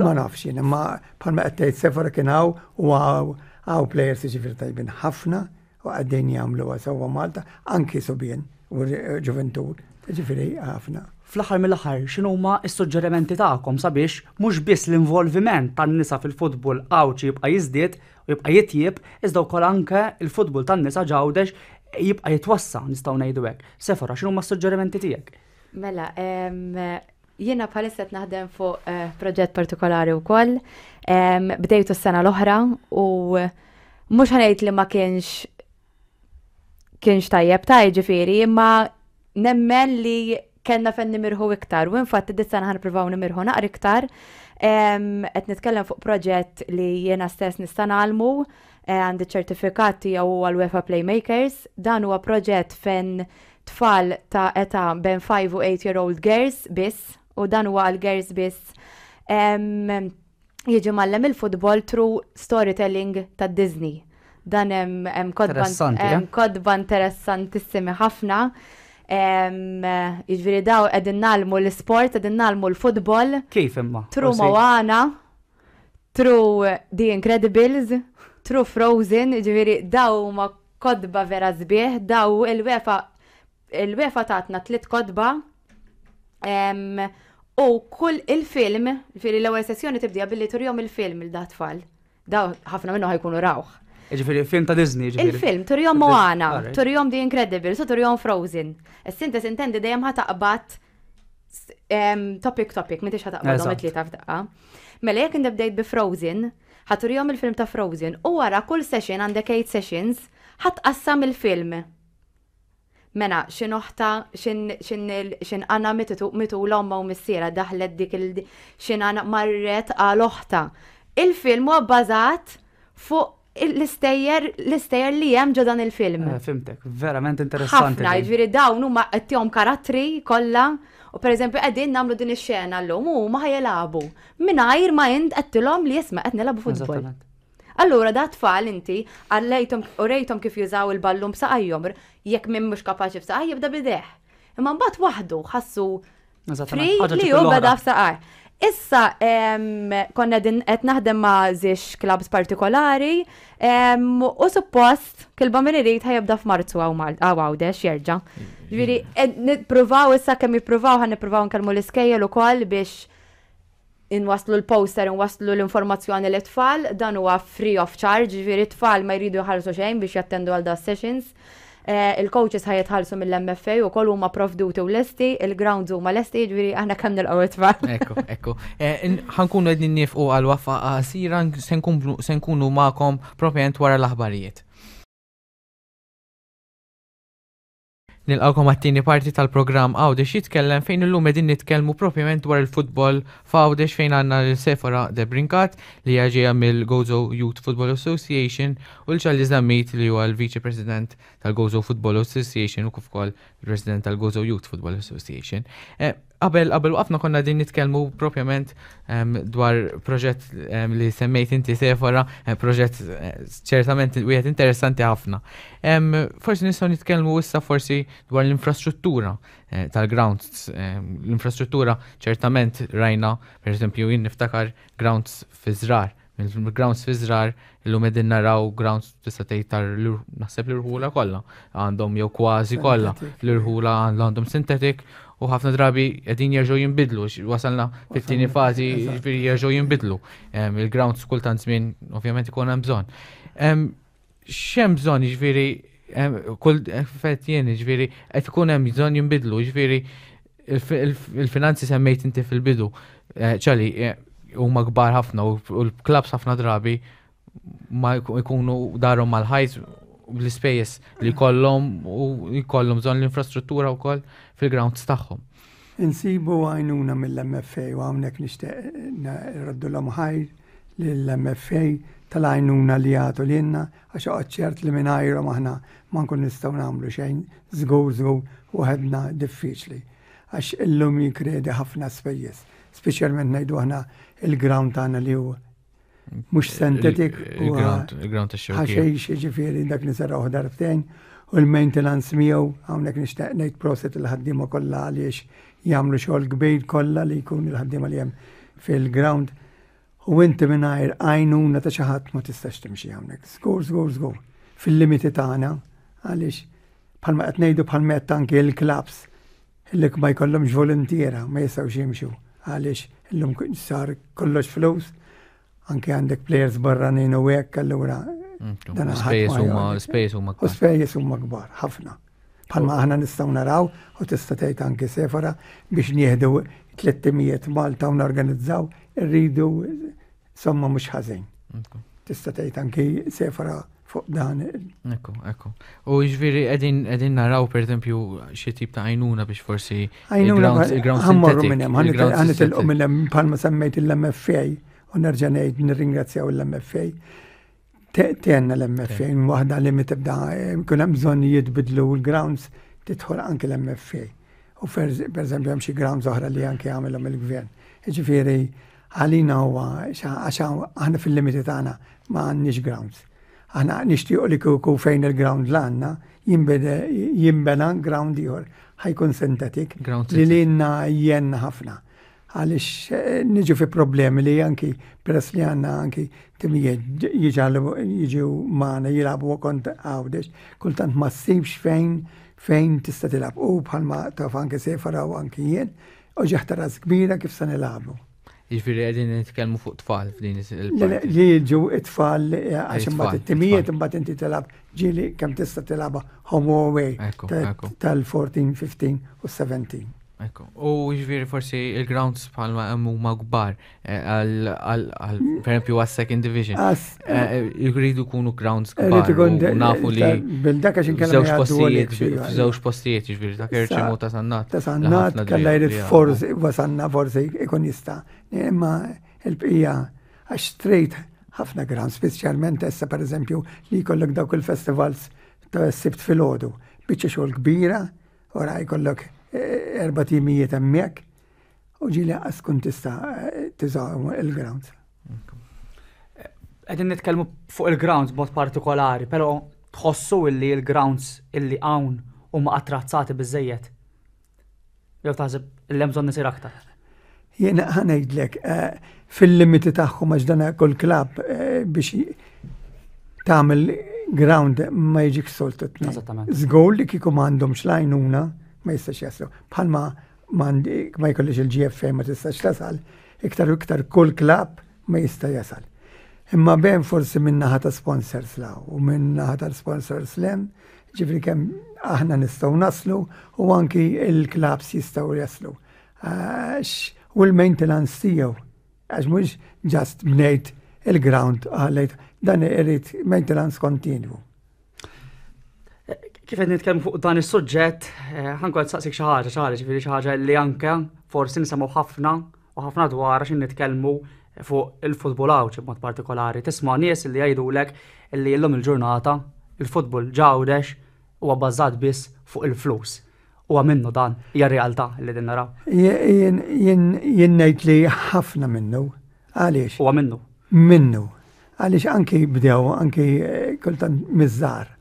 ma nafx jien, imma bħalma qed tgħid Sephora kien hawn u hawn players jiġifieri tajbin ħafna u qegħdin jagħmluha sewwa Malta, anki subien u ġuventur, ġifieri ħafna. Fl-aħħar mill-aħħar, x'inhuma s-suġġerimenti tagħkom sabiex mhux biss l-involviment tan-nisa fil-futbol Għawdxi jibqa' jiżdied u jibqa' jitjieb, iżda wkoll anke l-futbol tan-nisa ġ'Għawdex jibqa' jitwassa' nistgħu ngħidu hekk. Sephora, x'inhuma s-suġġerimenti tiegħek? Mela, Jiena bħalissa qed naħdem fuq eh, proġett partikolari wkoll. Bdejtu s-sena l-oħra u mhux ħanejt li ma kienx kienx tajjeb ta' ġifieri, imma nemmen li kellna fejn nimirħu iktar u infatti dit sena ħanipruvaw nimirħu naqra iktar. Qed nitkellem fuq proġett li jiena stess nista' nagħlmu eh, għandi ċertifikat tiegħu huwa l-UEFA Playmakers. Dan huwa proġett fejn tfal ta' età bejn 5 u 8 year old girls biss, u dan huwa għal girls biss, jiġi mgħallem il-futbol through storytelling ta' Disney. Dan hemm kotba eh? kotba interessantissimi ħafna. Jiġifieri daw qegħdin nagħlmu l-isport, qegħdin nagħlmu l-futbol. Kif imma? Through Moana, through The Incredibles, through Frozen, jiġifieri daw huma Kotba vera sbieħ, daw il-UEFA il-UEFA tatna tliet kotba u kull il-film, ġifieri l-ewwel sessjoni tibdija billi turihom il-film il da tfal. Daw ħafna minnu ħajkunu rawh. Ġifieri film ta' Disney, ġifieri. Il-film, turihom Moana, turihom The Incredible, so turihom Frozen. Is-sinta sintendi dejjem ħa taqbad topic topic, m'intix ħa taqbadhom it-tlieta f'daqqa. Mela jekk inti bdejt bi Frozen, ħa turihom il-film ta' Frozen u wara kull session għandek 8 sessions, ħa tqassam il-film. Mela, x'in oħta, x'in għana mitula omma u missiera daħlet dik il x'in għana marret għal oħta. Il-film huwa bbażat fuq l-istejjer l-istejjer li hemm ġo dan il-film. Eh, fimtek, verament interessanti. Ħafna, jiġifieri dawn huma qed tihom karattri kollha u pereżempju qegħdin nagħmlu din ix-xena llum u huma ħajelagħbu mingħajr ma int qedtilhom li isma' qed nilagħbu futbol. Allura da tfal inti għallejthom u rejthom kif jużaw il-ballun b'saqajhom, jekk min mhux kapaċi b'saqaj jibda b'idejh. Imma mbagħad waħdu ħassu Free li hu beda f'saqaj. Issa konna din qed naħdem ma' żiex clubs partikolari u suppost kilba min irid ħajibda f'Marzu hawn Għawdex jerġa'. Ġifieri nippruvaw issa kemm jippruvaw ħa nippruvaw nkellmu l-iskejjel ukoll biex inwasslu l-poster, inwasslu l-informazzjoni lit-tfal, dan huwa free of charge, ġifieri t-tfal ma jridu jħallsu xejn biex jattendu għal da sessions. Eh, il-coaches ħa jitħallsu mill-MFA u koll huma provduti u lesti, il-grounds huma lesti, ġifieri aħna kemm nilqgħu it-tfal. Ekku, ekku. Eh, ħankunu qegħdin nifqu għal wafa qasira se nkunu magħkom propjament wara l-aħbarijiet. Nilqgħukom għat-tieni parti tal-programm Għawdex Jitkellem fejn illum qegħdin nitkellmu propjament dwar il-futbol f'Għawdex fejn għandna lil Sefora Debrincat li hija ġejja mill-Gozo Youth Football Association u lil Charlie Zammit li huwa l-Viċi President tal-Gozo Football Association u kif ukoll il-President tal-Gozo Youth Football Association. Eh, qabel qabel waqfna konna din nitkellmu propjament ehm, dwar proġett ehm, li semmejt inti Sefora, eh, proġett eh, ċertament wieħed interessanti ħafna. Ehm, forsi nistgħu nitkellmu issa forsi dwar l-infrastruttura eh, tal-grounds. L-infrastruttura ċertament rajna, per eżempju, jien niftakar grounds fi żrar Mill-grounds fi żrar illum qegħdin naraw grounds tista' tgħid tar naħseb l-irħula kollha għandhom jew kważi kollha l-irħula għandhom synthetic u ħafna drabi qegħdin jerġgħu jinbidlu wasalna fit-tieni fażi jiġifieri jerġgħu jinbidlu. Il-grounds kultant żmien ovvjament ikun hemm bżonn. X'hemm bżonn jiġifieri kull effett jien jiġifieri qed ikun hemm bżonn jinbidlu jiġifieri il-finanzi semmejt inti fil-bidu. Eh, ċali, eh, huma kbar ħafna u l-klabs ħafna drabi ma jkunu darhom mal-ħajt bl-ispejjeż li jkollhom u jkollhom bżonn l-infrastruttura wkoll fil-grounds tagħhom. Insibu għajnuna mill-MFA u hawnhekk nixtieq nroddulhom ħajr lill-MFA tal-għajnuna li jagħtu lilna għax oqgħod ċert li mingħajrhom aħna ma nkun nistgħu nagħmlu xejn żgur żgur waħedna diffiċli għax illum jinkredi ħafna spejjeż, speċjalment ngħidu aħna il-ground tagħna li hu mhux synthetic u il-ground ta' ħaxejx jiġifieri dak li saraw darbtejn u l-maintenance miegħu hawnhekk nixtieq ngħid proset il-ħaddiema kollha għaliex jagħmlu xogħol kbir kollha li jkun il-ħaddiema li hemm fil-ground u inti mingħajr għajnuna ta' xi ħadd ma tistax timxi hawnhekk. Żgur, żgur, żgur. Fil-limiti tagħna għaliex bħalma qed ngħidu bħalma qed anke l-clubs li ma jkollhomx voluntiera ma jistgħux jimxu għaliex illum sar kollox flus anke għandek players barranin u hekk allura dan spejjeż huma spejjeż huma kbar. Spejjeż huma kbar ħafna. Bħalma aħna nistgħu naraw u tista' tgħid anke sefara biex nieħdu 300 Malta u norganizzaw irridu somma mhux ħażin. Tista' tgħid anki sefara fuq dan. Ekku, ekku. U jiġifieri qegħdin qegħdin naraw pereżempju xi tip ta' għajnuna biex forsi għajnuna ħammorru minn hemm, ħanitilqu minn hemm bħalma semmejt l-MFA u nerġa' ngħid nirringrazzjaw l-MFA. Tenna l-MFA, waħda li tibda kun hemm bżonn jitbidlu l-grounds tidħol anke l-MFA. U per eżempju hemm xi grounds oħra li anke għamilhom il-gvern. Jiġifieri għalina huwa għax aħna fil-limiti tagħna ma għandniex grounds. Aħna nixtiequ li kieku fejn il-ground l għandna jinbena ground ieħor ħajkun synthetic li lilna jenna ħafna. Għaliex eh, niġu fi problemi li anki peress li għandna anki timijiet jiġu magħna jilagħbu kont Għawdex, kultant ma ssibx fejn fejn tista' tilgħab u bħalma taf anke sefara u anki jien, u ġeħta ras kbira kif se nilagħbu. Jiġifieri qegħdin nitkellmu fuq tfal f'din il-parti. Li jiġu it-tfal eh, għax imbagħad it-timijiet imbagħad inti tilgħab ġieli kemm tista' tilgħabha home away tal-14, 15 u 17. Ekku. U jiġifieri forsi il-grounds bħalma hemm huma kbar eh, għal per esempio għas second division. Eh, jridu jkunu grounds kbar. Nafu li bil-dak għax inkella żewġ postijiet, żewġ postijiet jiġifieri ta' Kerċem u ta' Sannat. Ta' Sannat kellha jrid forsi wasanna forsi ikun jista'. Imma il-bqija għax trid ħafna grounds, speċjalment issa pereżempju li jkollok dawk il-festivals ta' sibt filgħodu. Biċċa xogħol kbira Ora jkollok eh, erba timijiet hemmhekk u ġieli qas tkun tista' eh, tuża il-grounds. Qegħdin nitkellmu fuq il-grounds b'mod partikolari, però tħossu illi l-grounds illi hawn huma attrazzati biżejjed. Jew taħseb illi hemm bżonn isir aktar. Jiena ħa ngħidlek, eh, fil-limiti tagħhom għax dan kull klabb eh, biex tagħmel ground ma jiġik soltu tnejn. Eżattament. Żgur li kieku m'għandhomx l-għajnuna ma jistax jaslu. Bħalma ma jkollix il-GFA ma tistax tasal, iktar u iktar kull klabb ma jista' jasal. Imma ben forsi minn naħa ta' sponsors la u minn naħa ta' sponsors lem, ġifri kemm aħna nistgħu naslu u anki il-klabs jistgħu jaslu. Għax u l-maintenance tiegħu, għax mhux just bnejt il-ground għalejt, dan irid maintenance kontinwu. Kif qed nitkellmu fuq dan is-suġġett, eh, ħankol saqsik xi ħaġa, xi ħaġa, ġifieri xi ħaġa li anke forsi nisimgħu ħafna u ħafna dwar għax nitkellmu fuq il-futbol Għawdxi b'mod partikolari. Tisma' nies li jgħidulek li llum il-ġurnata il-futbol Għawdex huwa bbażat biss fuq il-flus. Huwa minnu dan, hija realtà li din naraw. Jien ngħid li ħafna minnu. Għaliex? Huwa minnu. Minnu. Għaliex anki bdew, anki eh, kultant miż-żgħar.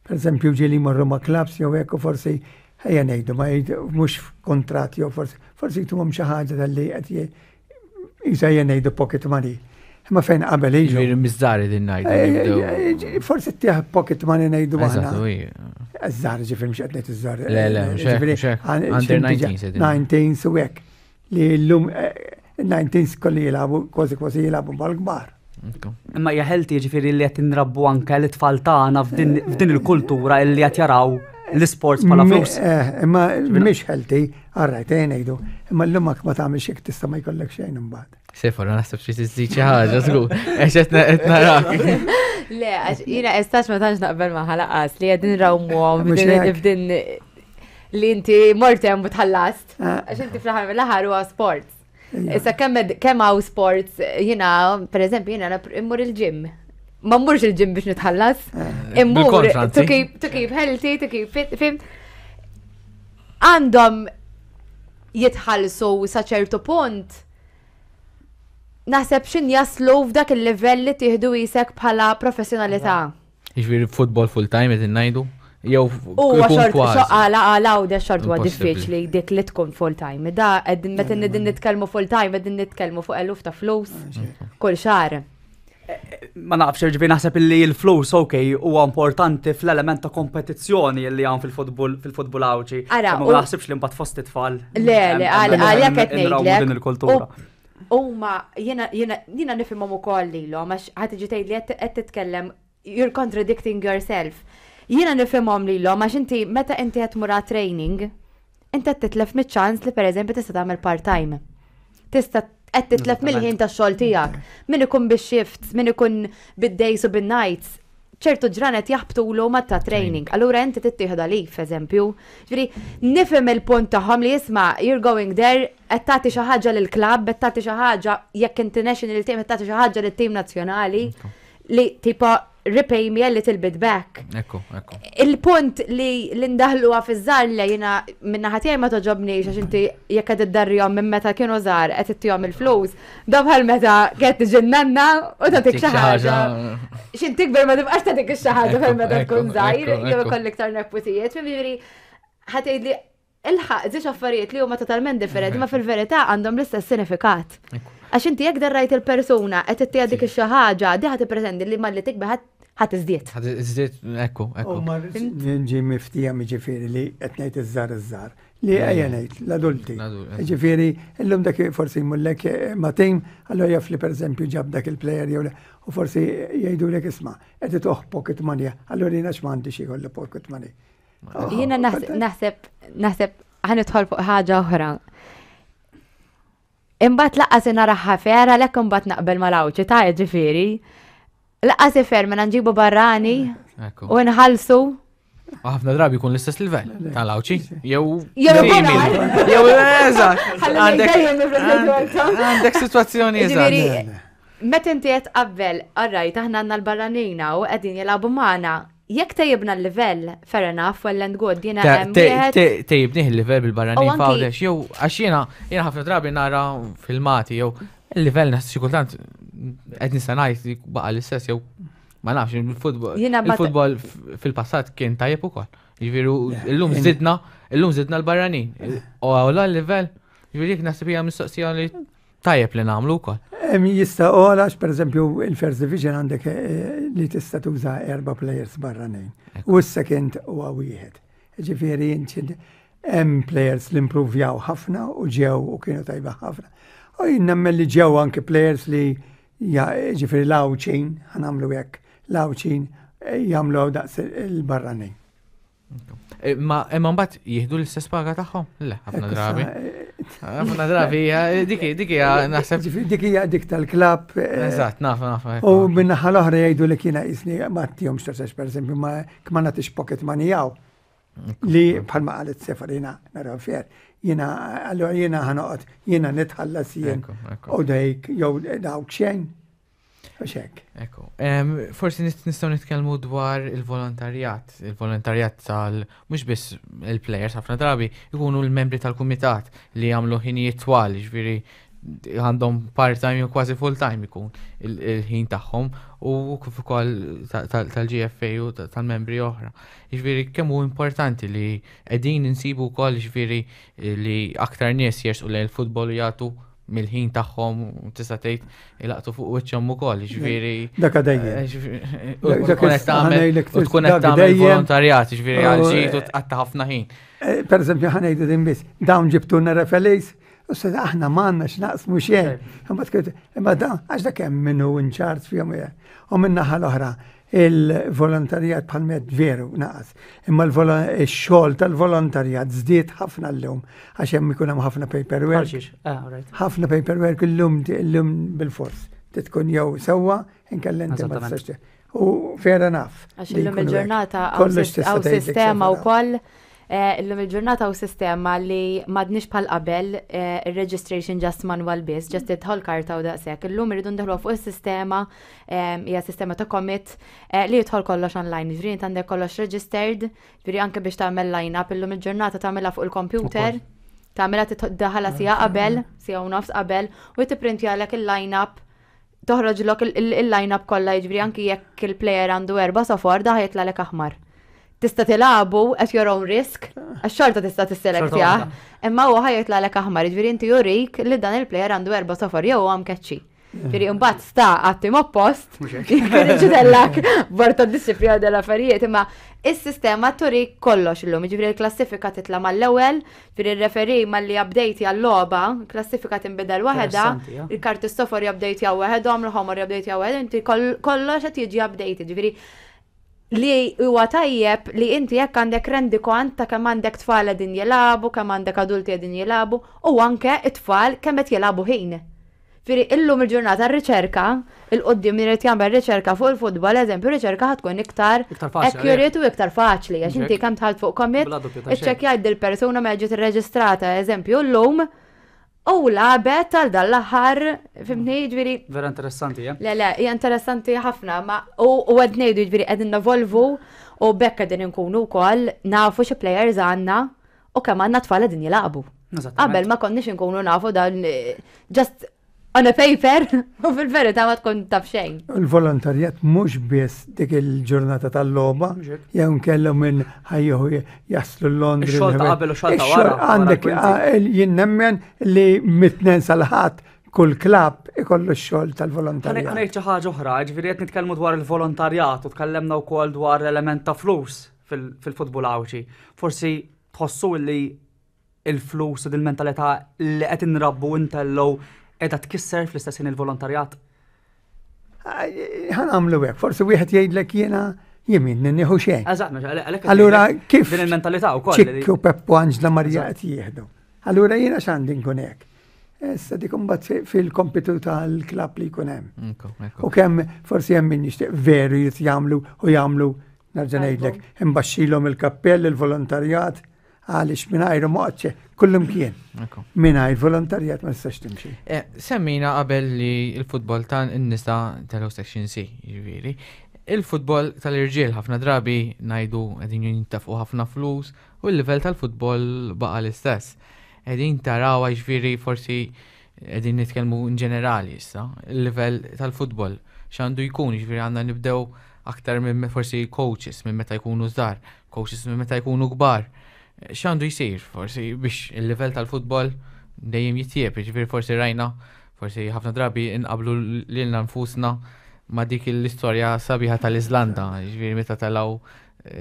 Per eżempju, ġieli jmorru ma' clubs jew hekk u forsi ejja ngħidu ma mhux f'kuntratt jew forsi forsi jtuhom xi ħaġa tal-li qed jisa ejja ngħidu pocket money. Imma fejn qabel ilu. Ġifieri miż-żgħar din ngħidu. Eh, eh, eh, forsi tieħ pocket money ngħidu aħna. Iż-żgħar ġifieri mhux qed ngħid iż-żgħar. Le, le, mhux Under 19 19 su hekk. Li llum 19 kolli jilagħbu kważi kważi jilagħbu mal-kbar. Imma hija healthy ġifieri li qed inrabbu anke l-itfal tagħna f'din il-kultura li qed jaraw l-isports bħala flus. Eh, imma mhix healthy, għarrajt eh, ngħidu, imma llum ma tagħmilx hekk tista' ma jkollek xejn imbagħad. Sefor, naħseb xi tiżżid xi ħaġa, żgur. Għax qed narak. Le, għax jiena estax ma tantx naqbel ma ħalaqas li qegħdin rawmuhom f'din li inti mort hemm u tħallast. Ah. Għax inti fl-aħħar mill-aħħar huwa sports. Issa kemm kemm hawn sports, jiena pereżempju jiena immur il-gym. Ma mmurx il-gym biex nitħallas. Ah. Immur to keep to keep healthy, to keep fit, fimt. Għandhom jitħallsu sa ċertu punt naħseb xin jaslu f'dak il-livell li tieħdu isek bħala professjonalità. Jiġifieri futbol full time qed ngħidu? Jew Huwa xort għala għala u xort huwa diffiċli dik li tkun full time. Da qegħdin meta qegħdin nitkellmu full time qegħdin nitkellmu fuq eluf ta' flus kull xahar. Ma nafx, ġifieri naħseb illi l-flus ok huwa importanti fl-element ta' kompetizzjoni li hawn fil-futbol fil-futbol Għawdxi. Ma naħsibx li mbagħad fost it-tfal. Le, le, għalhekk qed ngħidlek. Din il-kultura. Huma jiena jiena jiena nifhimhom ukoll lilhom għax ħa tiġi tgħidli qed titkellem you're contradicting yourself. Jiena nifhimhom lilhom għax inti meta inti qed tmur training, inti qed titlef miċ-ċans li pereżempju tista' tagħmel part-time. Tista' qed titlef mill-ħin tax-xogħol tiegħek. Min ikun bix-shifts, min ikun bid-days u bin-nights, ċertu ġranet jaħbtulu ma ta' training. Allura inti tittieħdu għalif, eżempju. Ġifieri, nifhem il-punt tagħhom li isma' you're going there, qed tagħti xi ħaġa lill-klabb, qed tagħti xi ħaġa jekk inti national team qed tagħti xi ħaġa lit-tim nazzjonali li tipo repay me a little bit back. Ekku, ekku. Il-punt li l-indaħluha fiż-żgħar li jiena minna tiegħi ma toġobniex għax inti jekk qed iddarrihom minn meta kienu żgħar qed ittihom il-flus, da bħal meta qed tiġi nanna u tagħtik xi ħaġa. X'in tikber ma tibqax tagħtik xi ħaġa bħal meta tkun żgħir, jew ikollok iktar neputijiet, jiġifieri ħa tgħidli ilħaq żewġ affarijiet li huma totalment differenti, ma fil-verità għandhom l-istess sinifikat. Għax inti jekk darrajt il-persuna qed ittieha dik xi ħaġa, di ħa tippretendi li malli tikber ħa tiżdied. Ħa tiżdied, ekku, ekku. U ma nġi miftija jiġifieri li qed ngħid iż-żgħar iż-żgħar. Li ejja ngħid l-adulti. Ġifieri illum dak forsi jmullek eh, ma' tim, allura jaf li pereżempju ġab dak il-player jew u forsi jgħidulek isma' qed itoħ pocket money, allura jiena x'm'għandi xi jkollu pocket money. Jiena naħseb naħseb ħanidħol fuq ħaġa oħra. Imbagħad laqqas naraħħa fer għalhekk imbagħad naqbel mal-Għawdxi ta' ġifieri. Laqqas ifer mela nġibu barrani u nħallsu. Ħafna drabi jkun l-istess livell tal-Għawdxi jew jew jew eżatt. Għandek sitwazzjoni eżatt. Meta inti qed tqabbel, alright, aħna għandna l-barranina u qegħdin jilagħbu magħna, Jekk tejjibna l-livell, fair enough, well and good, jiena hemm wieħed. Tejjibnih il-livell bil-barranin f'Għawdex, jew għax jiena jiena ħafna drabi nara filmati jew il-livell naħseb xi kultant qed nista' ngħid baqa' l-istess jew ma nafx il-futbol. Il-futbol fil-passat kien tajjeb ukoll. Jiġifieri illum żidna, illum żidna l-barranin. U għawla l-livell, jiġifieri jekk naħseb hija mistoqsija li Tajjeb li nagħmlu wkoll. Jista' għola, per eżempju, il-First Division għandek eh, li tista' tuża erba' players barranin. U s-second huwa wieħed. Ġifieri hemm players li impruvjaw ħafna u ġew u kienu tajba ħafna. U jien nemmen li ġew anke players li ġifieri l-Għawdxin, ħanamlu hekk, l-Għawdxin eh, jagħmlu daqs il-barranin. Eh, ma imma mbagħad jieħdu l-istess paga tagħhom? Le, ħafna drabi. Eh, Ħafna drabi, dik dik hija naħseb. Dik hija dik tal-klabb. Eh, Eżatt, naf, naf. U min-naħa l-oħra jgħidu li kiena jisni ma tihomx taxax pereżempju ma ma nagħtix pocket money hawn. Li bħalma qalet Sefar jiena nara fair. Jiena allura jiena ħanoqgħod jiena nitħallas jien u dejk jew dawk xejn. Mhux hekk. Ekku. Forsi nistgħu nitkellmu dwar il-volontarjat, il-volontarjat tal mhux biss il-plejers ħafna drabi ikunu l-membri tal-kumitat li jagħmlu ħinijiet twal, jiġifieri għandhom part-time jew kważi full-time ikun il-ħin tagħhom u kif ukoll tal-GFA u tal-membri oħra. Jiġifieri kemm hu importanti li qegħdin insibu wkoll jiġifieri li aktar nies jersqu lejn il-futbol u jagħtu mill-ħin tagħhom tista' tgħid ilaqtu fuq wiċċhom ukoll, jiġifieri. Dak dejjem. Eh, tkun qed tagħmel tkun qed tagħmel volontarjat, jiġifieri għal ġid u tqatta' ħafna ħin. Eh, per eżempju ħa ngħidu din biss, dawn ġibtulna referees, u se aħna m'għandna x'naqsmu xejn. Imma da għax dak hemm minnu in charge fihom u min-naħa l-oħra Il-volontarjat bħal med veru naqas. Imma x-xogħol tal-volontarjat żdied ħafna llum għax hemm ikun hemm ħafna paperwork. Ah, ħafna paperwork illum illum bil-fors. Tkun jew sewwa inkella inti ma tistax. U vera naf. Għax illum il-ġurnata hawn sistema wkoll eh, illum il-ġurnata u sistema li madnix bħal qabel eh, il-registration just manual biss, just idħol karta u daqshekk. Illum irridu ndaħlu fuq is-sistema hija sistema ta' commit eh, li jidħol kollox online, ġifieri int għandek kollox registered, ġifieri anke biex tagħmel line-up illum il-ġurnata tagħmilha fuq il-computer, tagħmilha daħala sija qabel, sija u nofs qabel, u jtipprintjalek il-line-up toħroġlok il-line-up kollha jiġifieri anki jekk il-player għandu erba' sofor daħ jitlagħlek aħmar. Tista' tilagħbu at your own risk, għax xorta tista' tisselektja, imma huwa ħa jitlagħlek aħmar, jiġifieri inti jurik li dan il-player għandu erba' sofor jew huwa mkeċċi. Ġifieri mbagħad sta għat-tim oppost, jkun borta disciplina dell-affarijiet, imma is-sistema turi kollox illum, ġifieri l-klassifika titla' mal-ewwel, ġifieri r-referee malli update għal-logħba, klassifika tinbidel waħedha, il-karti sofor jupdate jaw waħedhom, l-ħomor jupdate jaw waħedhom, inti kollox qed jiġi updated, ġifieri li huwa tajjeb li inti jekk għandek rendikont ta' kemm għandek tfal qegħdin jilagħbu, kemm għandek adulti qegħdin jilagħbu, u anke it-tfal kemm qed jilagħbu ħin. Ġifieri illum il-ġurnata r-riċerka, il-quddiem min irid jagħmel riċerka fuq il-futbol, eżempju, riċerka ħa tkun iktar accurate u iktar faċli għax inti kemm dħalt fuq commit, iċċekkjajt dil-persuna meta ġiet irreġistrata, eżempju, llum u lagħbet għal dan l-aħħar, fimtni, ġifieri. Vera interessanti, eh? Le, le, hija interessanti ħafna, ma u qed ngħidu ġifieri qegħdin nevolvu u b'hekk qegħdin inkunu wkoll nafu xi players għandna u kemm għandna tfal qegħdin jilagħbu. Qabel ma konniex inkunu nafu dan eh, just on a paper u fil-verità ma tkun taf xejn. Il-volontarjat mhux biss dik il-ġurnata tal-logħba, jew nkellhom minn ħajjuħu jaslu Londra. Ix-xogħol ta' qabel u xogħol ta' wara. Għandek jien nemmen li mit-tnejn sal-ħadd kull klabb ikollu x-xogħol tal-volontarjat. Ħa ngħid xi ħaġa oħra, ġifieri qed nitkellmu dwar il-volontarjat u tkellemna wkoll dwar l-element ta' flus fil-futbol Għawdxi. Forsi tħossu li il-flus u dil-mentalità li qed inrabbu intellgħu qiegħda tkisser fl-istess ħin il-volontarjat? Ħa nagħmlu hekk, forsi wieħed jgħidlek jiena jien nieħu xejn. Eżatt, għalhekk. Allura kif din il-mentalità wkoll. Ċikku Peppu Anġla Marija qed jieħdu. Allura jiena x'għandi nkun hekk. Issa dik imbagħad fil-kompitu tal-klabb li jkun hemm. U kemm forsi hemm min jixtieq veru jrid jagħmlu u jagħmlu Nerġa' ngħidlek, imbaxxilhom il-kappell il-volontarjat għaliex mingħajru moqgħodx kullimkien. Mingħajr volontarjat ma tistax timxi. Eh, semmina qabel li l-futbol ta' n-nisa tal Section C, jiġifieri. Il-futbol tal-irġiel ħafna drabi ngħidu qegħdin jintafqu ħafna flus u l-livell tal-futbol baqa' l-istess. Qegħdin tarawha jiġifieri forsi qegħdin nitkellmu in ġenerali issa, il-livell tal-futbol x'għandu jkun, jiġifieri għandna nibdew aktar minn forsi coaches minn meta jkunu żgħar, coaches minn meta jkunu kbar. X'għandu jsir forsi biex il-livell tal-futbol dejjem jitjieb, jiġifieri forsi rajna, forsi ħafna drabi inqablu lilna nfusna ma' dik l-istorja sabiħa tal-Iżlanda, jiġifieri meta telgħu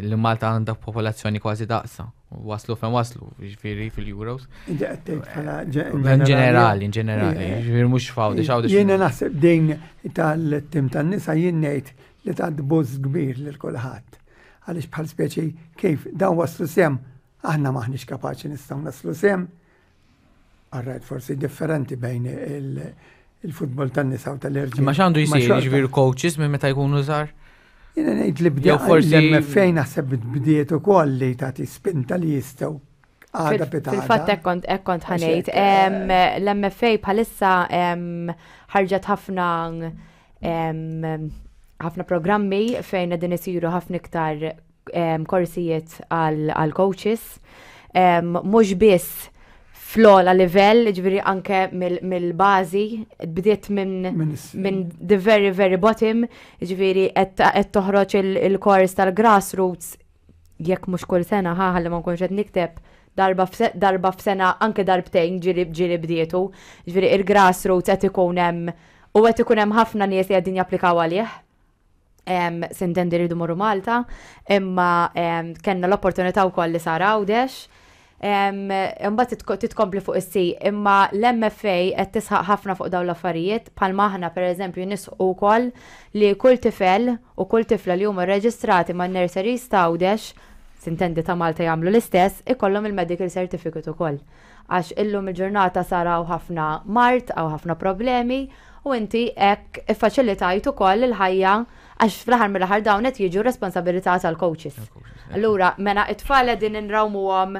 li Malta għandha popolazzjoni kważi daqsa. Waslu fejn waslu, jiġifieri fil-Euros. In ġenerali, in ġenerali, jiġifieri mhux fawdi, xawdi. Jiena naħseb din tal-tim tan-nisa jien ngħid li tat buż kbir lil kulħadd. Għaliex bħal speċi kif dawn waslu sem, aħna maħniex kapaċi nistgħu naslu sem. Alright, forsi differenti bejn il-futbol tan-nisa u tal-irġiel. Ma x'għandu jsir, jiġifieri coaches minn meta jkunu żgħar? Jiena ngħid li bdew forsi l-MFA naħseb bdiet ukoll li tagħti spinta li jistgħu għada pitgħada. Fil-fatt hekk kont hekk kont ħanejt. L-MFA bħalissa ħarġet ħafna ħafna programmi fejn qegħdin isiru ħafna iktar korsijiet għal coaches. Mhux biss fl-ogħla livell, ġifieri anke mill-bażi, bdiet minn the very very bottom, ġifieri qed toħroġ il-kors tal-grassroots jekk mhux kull sena ħa ħalli ma nkunx qed nikteb darba f'sena anke darbtejn ġieli ġieli bdietu. Ġifieri il-grassroots qed ikun hemm u qed ikun hemm ħafna nies li qegħdin japplikaw għalih. Sintendi rridu morru Malta, imma kellna l-opportunità wkoll li sar Għawdex. Imbagħad titkompli fuq is-si, imma l-MFA qed tisħaq ħafna fuq dawn l-affarijiet, bħalma aħna pereżempju nisħqu wkoll li kull tifel u kull tifla li huma rreġistrati man-nurseries ta' Għawdex, sintendi ta' Malta jagħmlu l-istess, ikollhom il-medical certificate ukoll. Għax illum il-ġurnata sar hawn ħafna mard, hawn ħafna problemi, U inti hekk iffaċilitajt ukoll il-ħajja għax fl-aħħar mill-aħħar dawn qed jiġu responsabilità tal-coaches. Allura, mela it-tfal qegħdin inrawmuhom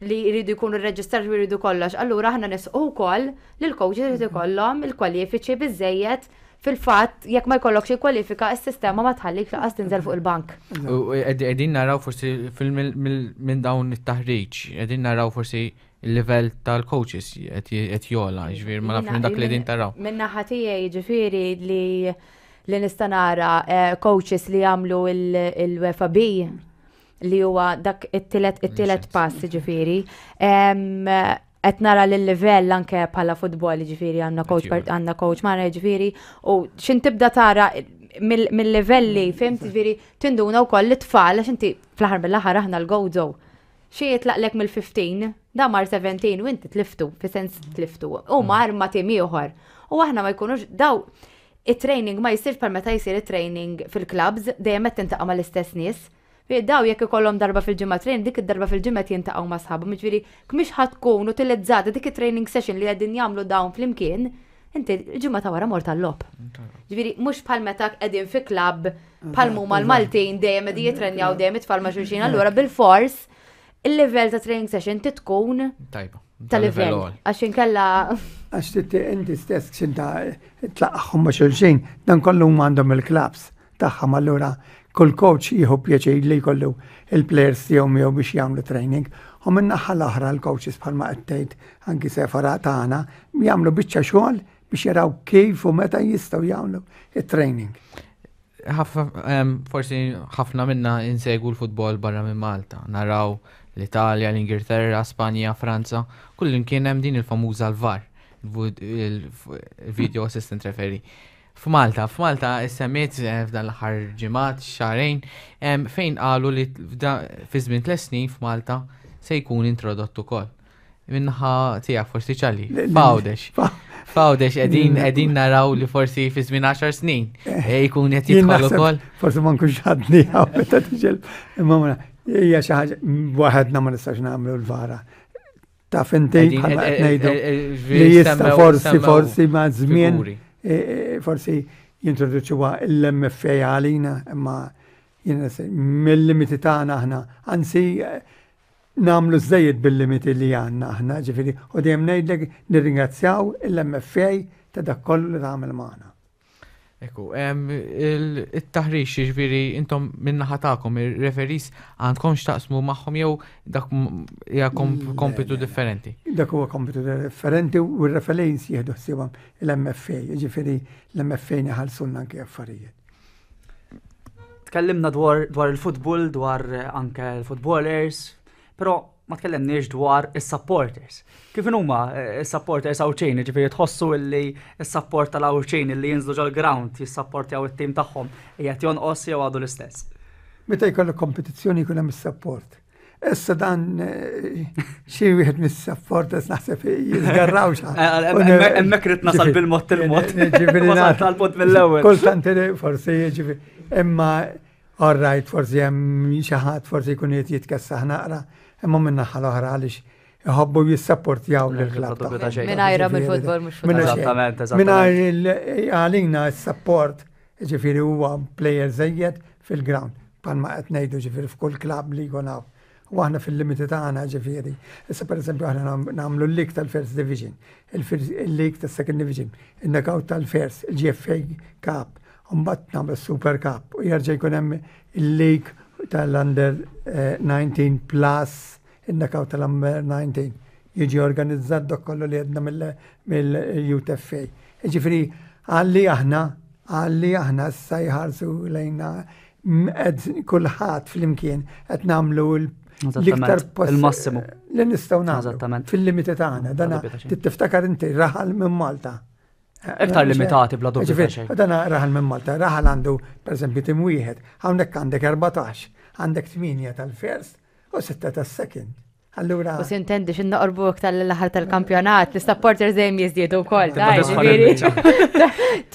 li jridu jkunu rreġistrati u jridu kollox. Allura aħna nisqu wkoll li l-coaches jrid ikollhom il-kwalifiċi biżejjed fil-fatt jekk ma jkollokx il-kwalifika s-sistema ma tħallik laqas tinżel fuq il-bank. U qegħdin naraw forsi minn dawn it-taħriġ, qegħdin naraw forsi il-livell tal-coaches qed jogħla, ġifieri ma nafx minn dak li din taraw. Minn naħa tiegħi ġifieri li li nista' nara eh, coaches li jagħmlu il-UEFA B li huwa dak it-tielet it-tielet pass ġifieri. Qed nara l-livell anke bħala futbol ġifieri għandna coach għandna coach magħna ġifieri u x'in tibda tara mill-livelli fimt ġifieri tinduna wkoll l-tfal għax inti fl-aħħar mill-aħħar aħna l-gozo Xi jitlaqlek mill-15, da mar 17 u inti tliftu, fi sens tliftu, u mar ma tim ieħor. U aħna ma jkunux daw it-training ma jsirx bħal meta jsir it-training fil-clubs, dejjem qed tintaqa' mal-istess nies. Daw jekk ikollhom darba fil-ġimgħa training, dik id-darba fil-ġimgħa qed jintaqgħu ma' sħabhom, jiġifieri mhix ħa tkun utilizzata dik it-training session li qegħdin jagħmlu dawn flimkien, inti l-ġimgħa ta' wara mort għal-logħob. Ġifieri mhux bħal meta qegħdin fi klabb bħal huma l-Maltin dejjem qegħdin jitrenjaw dejjem it-tfal ma' xulxin, allura bil-fors il-livell ta' training session titkun tajba. Ta' livell. Għax inkella. Għax titti inti stess xinta tlaqħom ma' xulxin, dan kollu għandhom il-klabbs tagħhom allura kull coach jieħu pjaċir li jkollu il-players tiegħu miegħu biex jagħmlu training. U minn naħa l-oħra l-coaches bħalma qed tgħid anki sefara tagħna jagħmlu biċċa xogħol biex jaraw kif u meta jistgħu jagħmlu it-training. Forsi ħafna minna insegwu l-futbol barra minn Malta, naraw l-Italja, l-Ingilterra, Spanja, Franza, kull kien hemm din il-famuża l-VAR, il-Video Assistant Referee. F'Malta, f'Malta issemmiet eh, f'dan l-aħħar ġimgħat, xahrejn, fejn qalu li fi żmien tliet snin f'Malta se jkun introdott ukoll. Minnaħa tiegħek forsi ċali, f'Għawdex. F'Għawdex qegħdin qegħdin naraw li forsi fi żmien 10 snin eh, eh, jkun qed jidħol ukoll. Forsi ma nkunx ħadni hawn meta tiġel. Imma hija xi ħaġa waħedna ma nistax nagħmlu l-vara. Taf inti bħalma qed ngħidu li jista' forsi forsi ma' żmien forsi jintroduċuha l-MFA għalina imma mill-limiti tagħna aħna anzi nagħmlu żejjed bil-limiti li għandna aħna, ġifieri u dejjem ngħidlek nirringrazzjaw l-MFA ta' dak kollu li tagħmel magħna. Ekku, il-taħriġ, ġifieri intom min-naħa tagħkom, ir-referees għandkom x'taqsmu magħhom jew dak hija kompitu differenti? Dak huwa kompitu differenti u r-referees jieħdu ħsiebhom l-MFA, ġifieri l-MFA neħallsulna anke affarijiet. Tkellimna dwar dwar il-futbol, dwar anke l-footballers, però ma tkellimniex dwar is-supporters. Kif huma eh, is-supporters Għawdxin, ġifieri tħossu illi s-support tal-Għawdxin illi jinżlu ġol-ground jissapportjaw it-tim tagħhom qiegħed jonqos jew għadu l-istess? Meta jkollok kompetizzjoni jkun hemm is-support. Issa dan eh, xi wieħed mis-supporters naħseb jiżgarraw xa. Eh, eh, hemmhekk rid nasal bil-mod il-mod. Ġifieri tal-mod mill-ewwel. Kultant forsi jiġifieri imma All right, forsi hemm xi ħadd forsi jkun qed jitkessaħ naqra, imma min-naħa l-oħra għaliex. iħobbu jissapportjaw lill-klabb tagħhom. Mingħajrhom il-futbol mhux futbol. Eżattament, eżattament. Mingħajr għalina s-support, ġifieri huwa plejer żejjed fil-ground. Bħalma qed ngħidu ġifieri f'kull klabb li jkun hawn. U aħna fil-limiti tagħna ġifieri. Issa pereżempju aħna nagħmlu l-league tal-First Division, il-league tas-Second Division, il-knockout tal-First, il-GFA Cup, u mbagħad nagħmlu s-Super Cup u jerġa' jkun hemm il-league tal-Under 19 eh, plus il-knockout tal-Under 19 jiġi organizzat dak kollu li għedna mill-UTFA. Ġifieri għalli aħna għalli aħna issa jħarsu lejna qed kulħadd flimkien qed nagħmlu l-iktar il-massimu li nistgħu nagħmlu fil-limiti tagħna. Dana tiftakar inti raħal minn Malta. Iktar limitati bla dubju. Dana raħal minn Malta, raħal għandu pereżempju tim wieħed, hawnhekk għandek 14, għandek 8 tal-first u 6 tas-second. Allura. U sintendi xin noqorbu iktar l-aħħar tal-kampjonat, l-supporters dejjem jiżdiedu wkoll.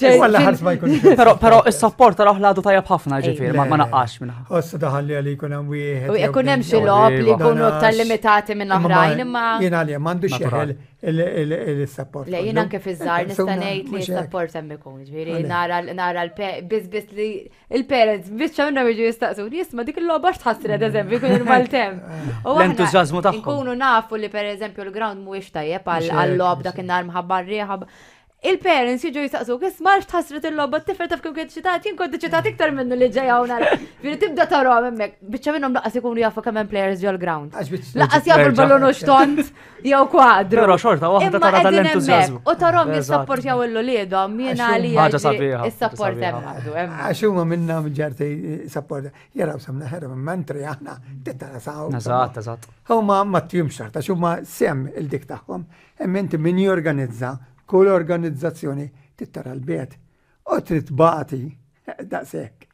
Għalla ma jkunx. Però però is-support taraħ l-għadu tajjeb ħafna ġifieri, ma naqqax minn. Ossa daħal li għalli jkun hemm wieħed. U jkun hemm xi logħob li jkunu iktar limitati minn oħrajn imma. Jien għalija m'għandux jeħel il-support. Le jien anke fiż-żgħar nista' ngħid li s-support hemm ikun, ġifieri nara nara l-biss biss li Il-parents, biċċa minnhom jiġu jistaqsu, jisma' dik il-logħba x'tħassret eżempju jkun il-maltemp. U aħna L-entużjażmu tagħhom. Nkunu nafu li pereżempju l-ground mhuwiex tajjeb għal logħob dak in-nhar mħabba r-riħa. Il-parents jiġu jistaqsu, isma' x'tħassret il-logħba, t-tifel taf kemm kien ċitat, jien kont ċitat iktar minnu li ġej hawn nara. Ġifieri tibda tarahom hemmhekk, biċċa minnhom laqas ikunu jafu kemm hemm players ġol-ground. Għax biċ- Laqas jafu l-ballun u xtont jew kwadru. Però xorta waħda Imma tara qegħdin dal-entużjażmu. hemmhekk U tarahom Eżatt. jissapportjaw il-uliedhom, jiena Għax għalija Ħaġa sabiħa, ħaġa Is-support sabiħa. hemm għadu hemm. Għax huma minna ġerti support. Jaraw samna ħerra minn mentri aħna tittara saw. Eżatt, eżatt. Huma ma tjum xorta, għax huma sem il-dik tagħhom. Hemm inti min jorganizza kull organizzazzjoni tittara l-bed. U trid bati daqshekk.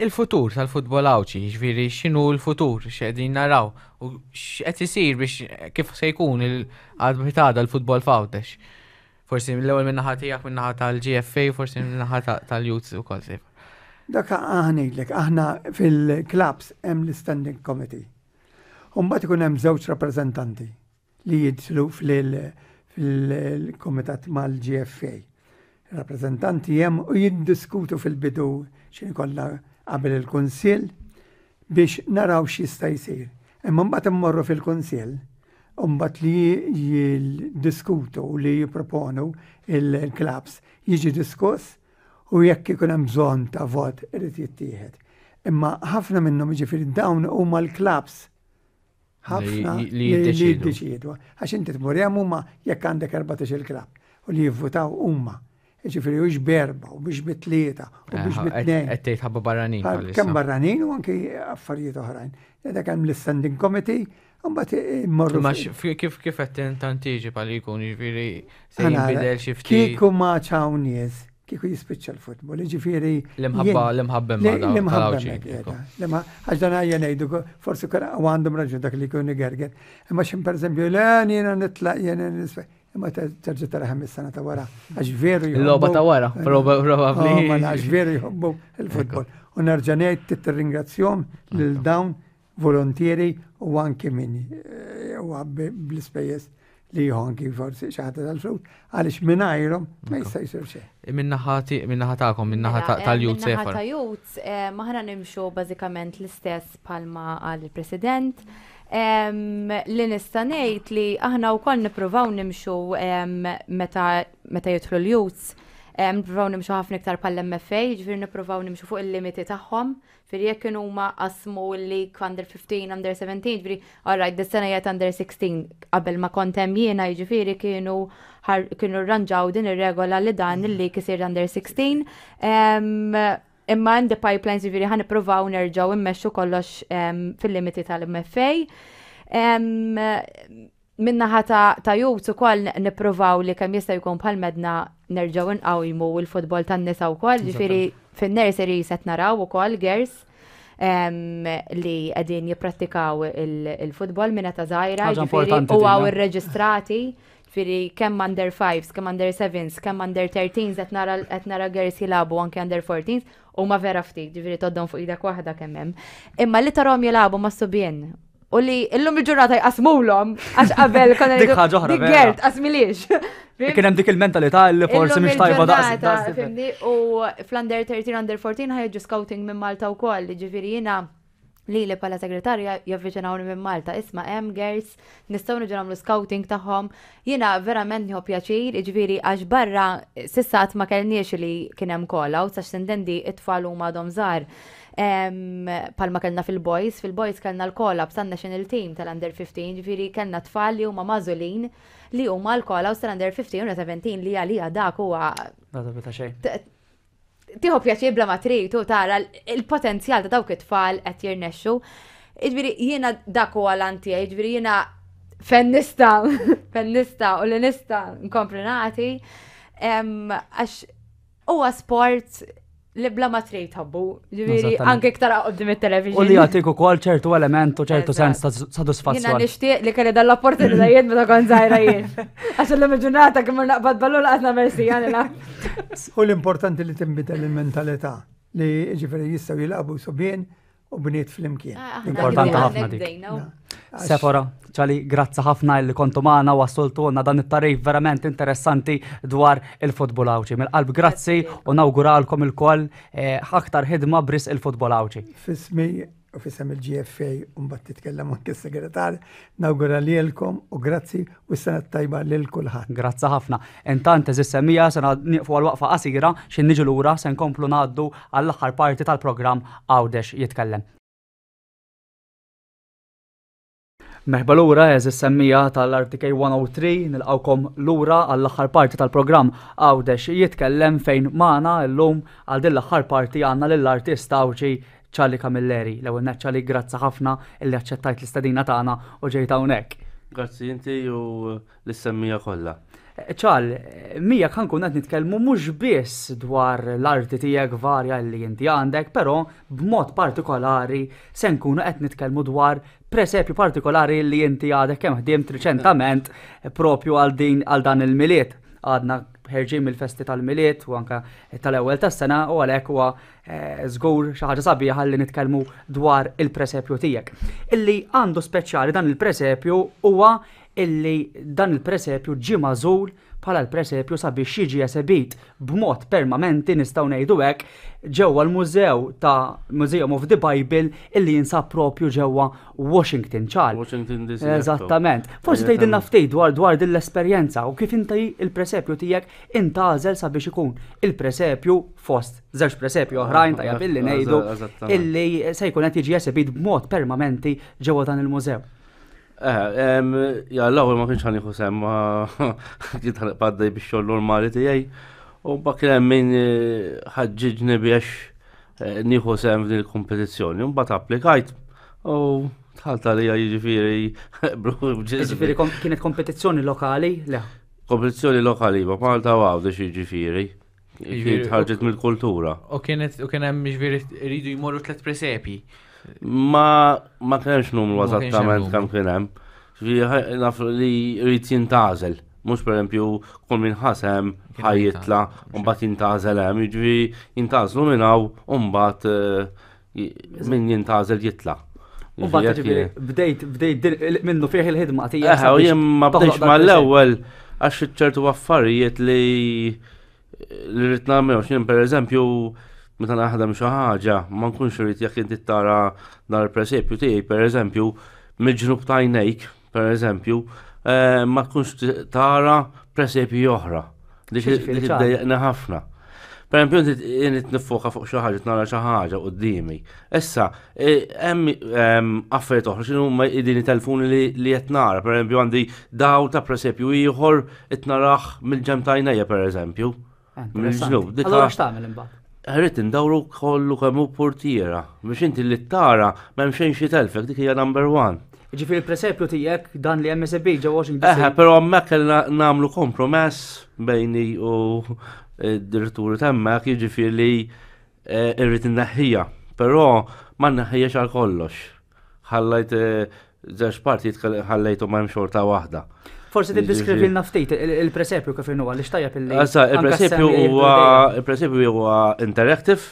Il-futur tal-futbol Għawdxi, jiġifieri x'inhu l-futur, x'qegħdin naraw u x'qed isir biex kif se jkun il-għadbitada l-futbol f'Għawdex. Forsi l-ewwel min-naħa tiegħek, min-naħa tal-GFA, forsi min-naħa tal-Youth ukoll sejf. Dak ngħidlek, aħna fil-clubs hemm l-standing committee. U mbagħad ikun hemm żewġ rappreżentanti li jidħlu fil-komitat mal-GFA. Rappreżentanti hemm u jiddiskutu fil-bidu x'in kollha qabel il-kunsill biex naraw x'jista' jsir. Imma mbagħad immorru fil-kunsill u mbagħad li jiddiskutu u li jipproponu il-clubs jiġi diskuss u jekk ikun hemm bżonn ta' vot irid jittieħed. Imma ħafna minnhom jiġifieri dawn huma l-clubs ħafna Li jiddeċiedu. jiddeċiedu. Għax inti tmur hemm huma jekk għandek 14 il-klabb u li jivvutaw huma. Jiġifieri hux berba u biex bit-tlieta u biex bit-tnejn. Qed tgħid ħabba barranin. bħalissa. Kemm barranin u anki affarijiet oħrajn. Dak hemm l-standing committee, u mbagħad immorru. Imma kif qed tantiġi li jkun jiġifieri se Għana, jinbidel xi ftit Kieku ma ċaw nies, kieku jispiċċa l-futbol, ġifieri. l-imħabba l-imħabba L-imħabba tal-Għawdxi. hemmhekk qiegħda. Għax dan għajja ngħidu, forsi u għandhom raġun dak li jkun igerger. Imma x'in pereżempju, le jiena nitlaq jiena nisfa. Imma terġa' tara is-sena ta' wara. Għax veru jħobbu. Il-logħba ta' wara, probabbli. Oh, mela, għax veru jħobbu il-futbol. U nerġa' ngħid tirringrazzjahom lil dawn volontieri u anki min huwa bl-ispejjeż li jieħu anki forsi xi ħadd tal-flus għaliex mingħajrhom ma jista' jsir xejn. Min-naħa tagħkom, min-naħa Mela, tal-Youth Min-naħa Sefer. ta' Youth, maħna nimxu bażikament l-istess palma għal-President. Li nista' ngħid li aħna wkoll nippruvaw nimxu meta meta jidħlu l-youths, nippruvaw nimxu ħafna iktar pal-MFA, ġifieri nippruvaw nimxu fuq il-limiti tagħhom. Ġifieri jekk kienu huma qasmu l-league under 15, under 17, ġifieri alright, dis-sena jgħid under 16 qabel ma kont hemm jiena, jiġifieri kienu rranġaw din ir-regola li dan il-league isir under 16. Imma in the pipelines ġifieri ħa nippruvaw nerġgħu immexxu kollox fil-limiti tal-MFA. Min-naħa ta' youth ukoll nippruvaw li kemm jista' jkun bħal medna nerġgħu nqawmu l-futbol tan-nisa wkoll, ġifieri fin-nursery set naraw ukoll girls li qegħdin jipprattikaw il-futbol minn età żgħira, Ħaġa ġifieri importanti u din, għaw eh? irreġistrati, ġifieri kemm under 5s, kemm under 7s, kemm under 13s qed nara girls jilagħbu anke under 14s u ma vera ftit, ġifieri toddhom fuq idek waħda kemm hemm. Imma li tarahom jilagħbu ma' subien. U li illum il-ġurnata jqasmulhom għax qabel konna Dik ħaġa oħra, Dik vera. girl tqasmilix. Kien hemm dik il-mentalità li forsi Illum mhix tajba daqs. il-ġurnata, Fimni, u fl-under 13, under 14 ħajġu scouting minn Malta u koll, ġifiri jina li li pala segretarja javviċinawni minn Malta, isma hemm girls, nistgħu niġu nagħmlu scouting tagħhom. Jiena verament nieħu pjaċir, jiġifieri għax barra s'issa qatt ma kellniex li kien hemm call outs għax tintendi it-tfal huma għadhom żgħar. Palma kellna fil-boys, fil-boys kellna l-call ups tan-national team tal-under 15, ġifieri kellna tfal li huma magħżulin li huma l-call outs tal-under 15 u 17 li għalija dak huwa Ta' xejn. Tieħu pjaċir bla ma trid u tara il-potenzjal ta' dawk it-tfal qed jirnexxu. Jiġifieri jiena dak huwa l tiegħi, jiġifieri jiena fejn nista', fejn nista' u li nista' nkompli nagħti. Għax huwa sport li bla ma trid tħobbu, ġifieri anke iktar quddiem it-television. U li jagħtik ukoll ċertu element u ċertu sens ta' sodisfazzjon. Jiena nixtieq li kelli dan l-opportunitajiet meta kont żgħira jien. Għax illum il-ġurnata kemm naqbad ballu laqas nagħmel sija nilgħab. U l-importanti li tinbidel il-mentalità li ġifieri jistgħu jilagħbu subien u bniet flimkien. Ah, Importanti ħafna dik. Sefora, ċali, grazzi ħafna li kontu magħna wassultuna dan it-tarif verament interessanti dwar il-futbol Għawdxi. Mill-qalb grazzi u nawguralkom ilkoll eh, aktar ħidma bris il-futbol Għawdxi. Fismi u fisem il-GFA u mbagħad titkellem anke s-segretar, nawgura lilkom u grazzi u s-sena tajba lil kulħadd. Grazzi ħafna. Intant eżis semija se nieqfu għal waqfa qasira xi niġu lura se nkomplu ngħaddu għall-aħħar parti tal-programm Għawdex jitkellem. Merħba lura eżis semmija tal-RTK 103 nilqawkom lura għall-aħħar parti tal-programm Għawdex jitkellem fejn magħna llum għal din l-aħħar parti għandna lill-artist Għawdxi Charlie Camilleri. L-ewwel nett Charlie grazzi ħafna illi aċċettajt l-istedina tagħna u ġejt hawnhekk. Grazzi inti u lis-semmija kollha. Ċal, miegħek ħa nkun qed nitkellmu mhux biss dwar l-arti tiegħek varja li inti għandek, però b'mod partikolari se nkunu qed nitkellmu dwar presepju partikolari li inti għadek kemm ħdimt riċentament propju għal din għal dan il-Milied. Għadna ħerġin mill-festi tal-Milied u anke tal-ewwel tas-sena u għalhekk huwa Żgur xi ħaġa sabiħa li nitkellmu dwar il-presepju tiegħek. Illi għandu speċjali dan il-presepju huwa illi dan il-presepju ġie magħżul bħala l-presepju sabiex jiġi esebit b'mod permanenti nistgħu ngħidu hekk ġewwa l-mużew ta' Museum of the Bible illi jinsab propju ġewwa Washington ċar. Washington DC. Eżattament. Forsi tgħidilna ftit dwar dwar din l-esperjenza u kif inti il-presepju tiegħek intgħażel sabiex ikun il-presepju fost żewġ presepju oħrajn tajjeb illi ngħidu illi se jkun qed jiġi esebit b'mod permanenti ġewwa dan il-mużew. Eh, ja, l-ewwel ma kienx ħanieħu sem ma kien ħanqbaddej bix-xogħol normali tiegħi. U mbagħad kien hemm min eh, ħaġġiġni biex eh, nieħu sem f'din il-kompetizzjoni. Mbagħad applikajt u dħalt għalija jiġifieri. Jiġifieri kienet kompetizzjoni lokali? Le. Kompetizzjoni lokali, ma Malta u Għawdex jiġifieri. Kienet ħarġet mill-kultura. U kienet u kien hemm jiġifieri rridu jmorru tliet presepi. Ma ma kienx numru eżattament kemm kien hemm. Naf li rrid jintgħażel. Mhux pereżempju kull min ħasem ħajjitla u mbagħad jintgħażel hemm, jiġifieri jintgħażlu minn hawn u mbagħad eh, min jintgħażel jitla. U mbagħad ġifieri bdejt bdejt minnu fih il-ħidma tiegħek. Eh, u jien ma bdejx mal-ewwel għax ċertu affarijiet li li rrid nagħmel għax jien pereżempju meta naħdem xi ħaġa ma nkunx irid jekk inti tara dar il-presepju tiegħi pereżempju mill-ġnub ta' għajnejk pereżempju eh, ma tkunx tara presepji oħra. Dik iddejjaqni ħafna. Per esempio, inti nifoka fuq xi ħaġa, nara xi ħaġa qudiemi. Issa, e, hemm affarijiet oħra x'inhu huma din telefoni li qed nara, per esempio għandi daw ta' presepju ieħor qed narah mill-ġem ta' għajnejja per eżempju. Mill-ġnub. Allura x'tagħmel imbagħad? Rrid indawru kollu kemm hu portiera biex inti li tara m'hemm xejn xi telfek dik hija number one. Ġifieri il-presepju tiegħek dan li hemm esebit ġewwa Washington DC. Eħe, però hemmhekk kellna nagħmlu kompromess bejni u d-diretturi t'hemmhekk, jiġifieri li eh, irrid inneħħija. Però ma nneħħijiex għal kollox. Ħallajt eh, żewġ partijiet ħallejthom hemm xorta waħda. Forsi tiddeskrivilna ftit il-presepju kif inhu għaliex tajjeb illi. Issa, il-presepju huwa il-presepju huwa interactive.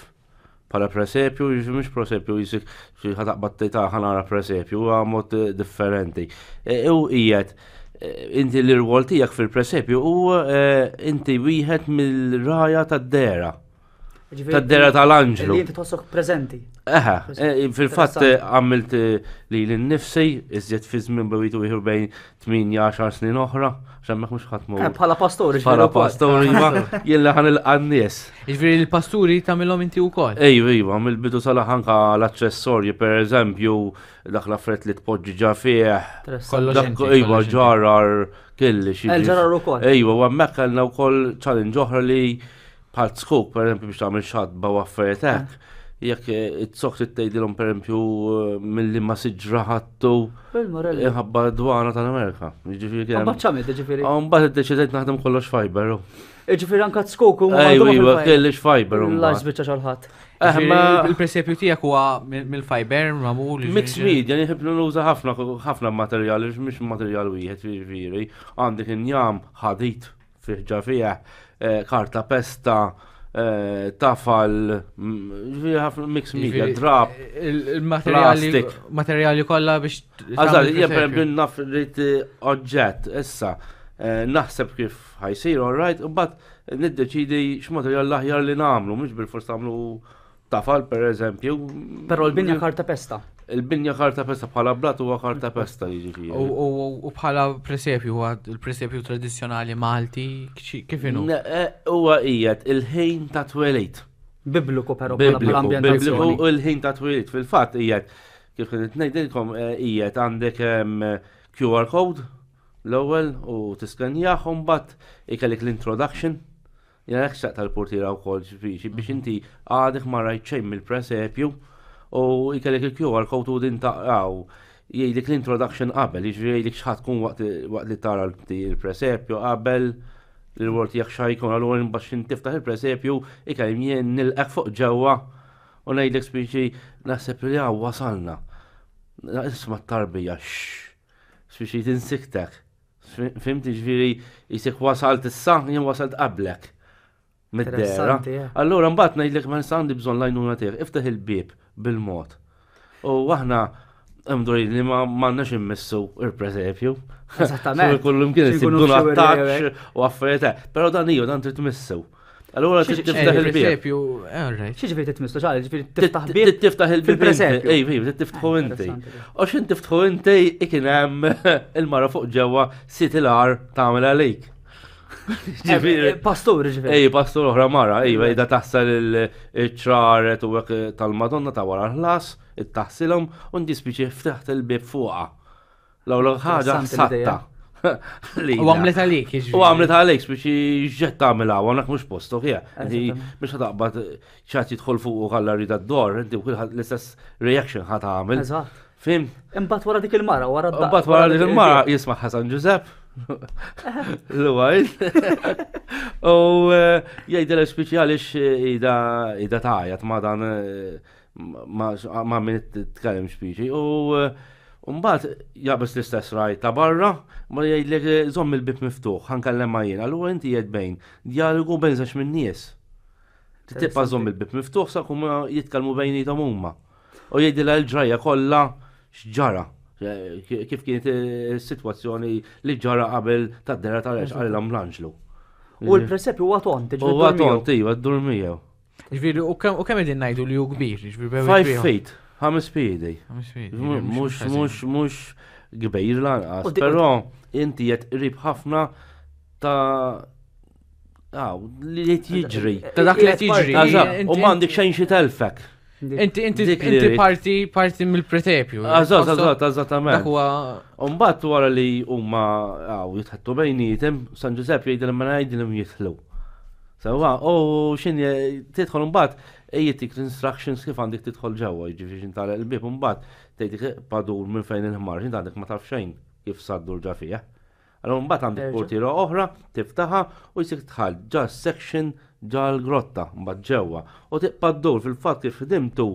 bħala presepju, jiġifieri mhux presepju jisik xi ħataqbad tgħid ah, ħanara presepju, huwa mod eh, differenti. E, u qiegħed eh, inti l-irwol tiegħek fil-presepju u eh, inti wieħed mill-raja tad-dera. Tad-dera tal-anġlu. Li inti tħossok preżenti. Eħe, fil-fatt għamilt li l-nifsi, iżjed fi żmien bejtu ieħor bejn 8-10 snin oħra, xemmek mux ħatmu. Eh, bħala pastori, Bħala pastori, ma jilla ħan il-qannies. Ġifieri l-pasturi tagħmilhom inti wkoll. Ejju, iva, mill-bidu sal-ħanka l-aċċessorji, per eżempju, dak l-affarijiet li tpoġġi ġa fih. Kollox inti, Iva, kollox inti. ġarar, kelli xi. Il-ġarar ukoll. Ejwa, u hemmhekk kellna wkoll challenge oħra li bħal skuk, per eżempju, biex tagħmel xatba u affarijiet hekk. Jekk it-sok trid tgħidilhom per eżempju milli ma siġra ħattu Bil-morelli. inħabba dwana tal-Amerika. Jiġifieri kien hemm- Mbagħad x'għamilt, ġifieri. Ah, Mbagħad iddeċidejt naħdem kollox fiber. u. Ġifieri anka tskok u Ejwa, iva, kellix fiber. u La mbagħad. żbiċċa xalħat. Eh, Ġifieri ma Il-presepju tiegħek huwa mill-fiber magħmul. Mixed media, nħib nuża ħafna ħafna materjali, mhux materjal wieħed jiġifieri. Għandek injam ħadid fih ġa fih, eh, karta pesta, eh, tafal, ġifieri ħafna mixed media, drap. Il-materjali plastic. materjali kollha biex. Għazal, tagħmel jien per presepju. eżempju naf rrid oġġett, issa, eh, naħseb kif ħajsir, all right, u mbagħad niddeċidi x'materjal l-aħjar li nagħmlu, mhux bil-fors tagħmlu tafal per eżempju. Però l-binja karta pesta. Il-binja karta pesta bħala blat huwa karta pesta jiġifieri. U- U u bħala presepju huwa il-presepju tradizzjonali Malti kif inhu? Ne, eh, Huwa qiegħed il-ħin ta' twelid. Bibliku però bħala Bibliku, bħala bibliku ambjentazzjoni. u l-ħin ta' twelid. Fil-fatt qiegħed kif kien ngħidilkom eh, qiegħed għandek em, QR code l-ewwel u tiskenjah u mbagħad ikellek l-introduction. Jena hekk xtaqt tal-portiera wkoll ġifieri biex inti għadek ma rajt xejn mill-presepju u ikellek il-QR code u din taqraw jgħidlek l-introduction qabel, jiġifieri jgħidlek x'ħadd tkun waqt waqt li tara l-presepju qabel l-word tiegħek xajkun allura imbagħad x'in tiftaħ il-presepju ikellem jien nilqek fuq ġewwa u ngħidlek speċi naħseb li hawn wasalna. Isma' t-tarbija xx. Speċi tinsiktek. Fimti ġifieri jisek wasalt issa, jien wasalt qablek. Mid-dera. Interessanti, eh. Allura mbagħad ngħidlek ma nista' għandi bżonn l-għajnuna tiegħek, iftaħ il-bieb bil-mod. U aħna mdurin li ma m'għandniex immissu il-presepju. Eżattament. Kullu mkien Xi isib jkunu dun f'xi attakx wirja u affarijiet. hekk. Però dan iju dan trid tmissu. Allura trid Xi- tiftaħ il-bieb. Il-presepju, eh, all right. Xi ġifieri titmissu ċali, ġifieri Tit- tiftaħ bieb. tit- Tiftaħ il-bieb. fil-presepju. Ej, ej, tiftħu Ah, inti. interessanti. U xin tiftħu inti ikien hemm il-mara fuq ġewwa sit il-ar tagħmel għalik. Ġifieri. Eh, Pastur ġifieri. Ej, pastor oħra mara, ej, ejda taħsel il-ċraret u hekk tal-Madonna ta' wara l-ħlas, it-taħsilhom, u ndispiċi ftaħt il-bib fuqha. L-ewwel ħaġa Interessanti l-idea. satta. Lila. U għamlet għalik, jiġifieri. U għamlet għalik biex ġett tagħmilha, u għandek mhux postok hija. Inti Eżattament. mhux ħataqbad ċat jidħol fuq u għalla rida d-dor, inti kulħadd l-istess reaction ħa tagħmel. Eżatt. Fim? Imbagħad wara dik il-mara, wara d- Mbagħad wara dik dik il-mara jisma' Ħasan Ġużepp. L-ewwel. U eh, jgħidilha speċi għaliex ida ida tgħajjat ma dan eh, ma ma min titkellem speċi. U eh, mbagħad jaqbes l-istess raj ta' barra, ma jgħidlek eh, żomm il-bib miftuħ, ħankellem ma jien. Allura inti jgħid bejn dialogu bejn żewġ min-nies. Tibqa' żomm il-bib miftuħ sa kuma jitkellmu bejnietom huma. U jgħidilha l-ġrajja kollha x'ġara. Eh, Kif kienet is-sitwazzjoni li ġara qabel tad-dera tal-għex qalilhom l-anġlu. U l-presepju huwa tont, U ġifieri għaton, iva, ddur miegħu. Ġifieri, u kemm u kemm qegħdin ngħidu li hu kbir, ġifieri bejn Five feet, ħames piedi. feet. Mux, mux, mux kbir lanqas, U di- però inti qed qrib ħafna ta' Aw, li qed jiġri. Ta' dak li qed jiġri. Eżatt, U Inti- m'għandek xejn xi telfek. Inti inti Dik li inti rrid. parti parti mill-presepju. Eżatt, Tħossok- eżatt, eżattament. Dak huwa Umbat wara li huma għaw jitħattu bejnietem, San Giuseppe jgħidilhom ma jgħidilhom jidħlu. Sewa, u xin tidħol imbagħad ejjetik l-instructions kif għandek tidħol ġewwa, jiġifieri xin tagħlaq il-bieb imbagħad tgħidlek padur minn fejn il-ħmar, xin għandek ma taf xejn kif saddur ġa fih. Allura mbagħad għandek Terġa'. portiera oħra, tiftaħa u jsir tħall ġa section ġa l-grotta mbagħad ġewwa. U tibqa' ddur fil-fatt kif ħdimtu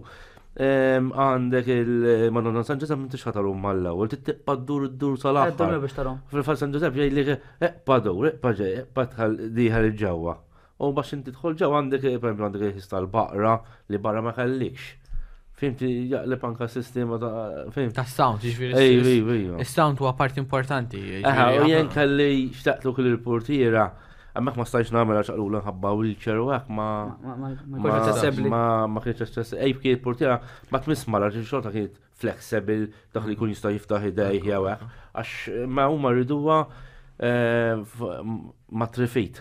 em, għandek il-Madonna San Giuseppe m'intix ħataru mal-ewwel, tibqa' ddur ddur sal-aħħar. biex tarahom. Fil-fatt San Giuseppe jgħidlek eqpa dur, eqpa ġej, eqpa tħall diħal il-ġewwa. U bax inti tħol ġew għandek, per eżempju, għandek il-ħis tal-baqra li barra ma kellikx. Fimti, jaqleb anka sistema ta' fim. Ta' sound, ġifieri. Ej, ej, ej. Is-sound huwa parti importanti. Eħe, u jien kelli xtaqtu kull il-portiera, hemmhekk ma stajx nagħmel għax qalula nħabba wheelchair u hekk ma. Ma kienx aċċessibbli. Ma kienx aċċessibbli. Ej, kien il-portiera ma tmiss mara ġi xorta kienet flexible dak li jkun jista' jiftaħ idejh jew hekk. Għax ma huma rriduha eh, ma trifit.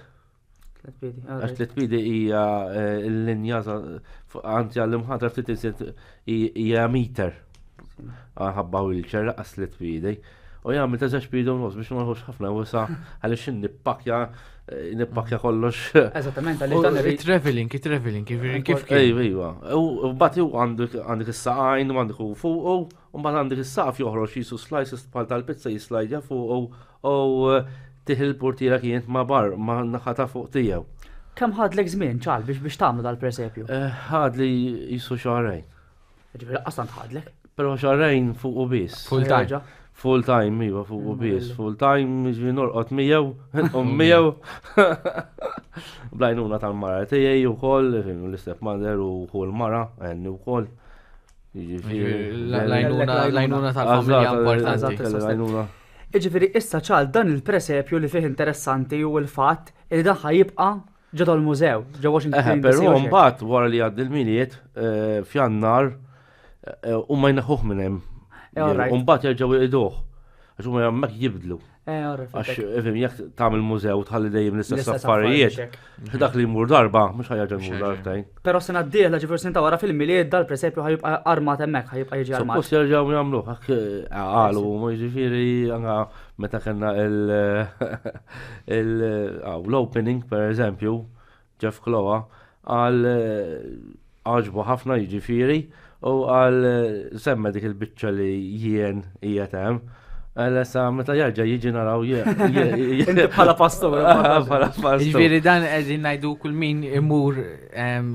Għax tliet piedi hija eh, l-linja anzi għall-imħatra ftit iżjed hija meter. Ħabba wheelchair laqas tliet piedi. U jgħamil ta' żewġ piedi u nofs biex ma nħux ħafna wisa għaliex nippakja eh, nippakja kollox. Eżattament, għaliex dan irid. Traveling, traveling, kif kif. Ejwa, ejwa. U mbagħad għandek is-saqajn u għandek u fuq u mbagħad għandek is-saqaf joħroġ jisu slices bħal tal-pizza jislajdja fuq U tih il-portiera kienet ma' bar, ma' naħa ta' fuq tiegħu. Kemm ħadlek żmien ċal biex biex tagħmlu dal-presepju? Eh, ħadli jisu xahrejn. Ġifieri qas tant ħadlek. Però xahrejn fuq u biss. Full time. Full time, iva, fuq u biss. Full time, ġifieri norqod miegħu, nqum miegħu. Blajnuna tal-mara tiegħi wkoll, l-istep mother u l-mara, għenni wkoll. L-għajnuna tal-familja importanti. Iġifieri issa ċal dan il-presepju li fih interessanti u l-fatt li dan jibqa' ġo dal-mużew, ġo Washington. Però mbagħad wara li għaddi l-miliet eh, f'Jannar eh, u ma jneħħuh minn hemm. Eh, u mbagħad jerġgħu jqiduh. Għax huma hemmhekk jibdlu. Eh, Għax, ifim, jekk tagħmel mużew tħalli dejjem l-istess affarijiet, dak li jmur darba, mhux ħajja jmur darbtejn. Però sena d-dieħla ġifier sena wara fil-milied dal-presepju ħajibqa' armat hemmhekk, ħajibqa' jiġi armat. Suppost jerġgħu jagħmluh, hekk eh, qalu, ma jiġifieri anke meta kellna l-opening per eżempju, Jeff Kloa qal għaġbu ħafna jiġifieri u qal semma dik il-biċċa li jien qiegħed hemm. Għalla sa meta jarġa' jiġi naraw Inti bħala pastor. Bħala pastor. Jiġifieri dan qegħdin ngħidu kull min imur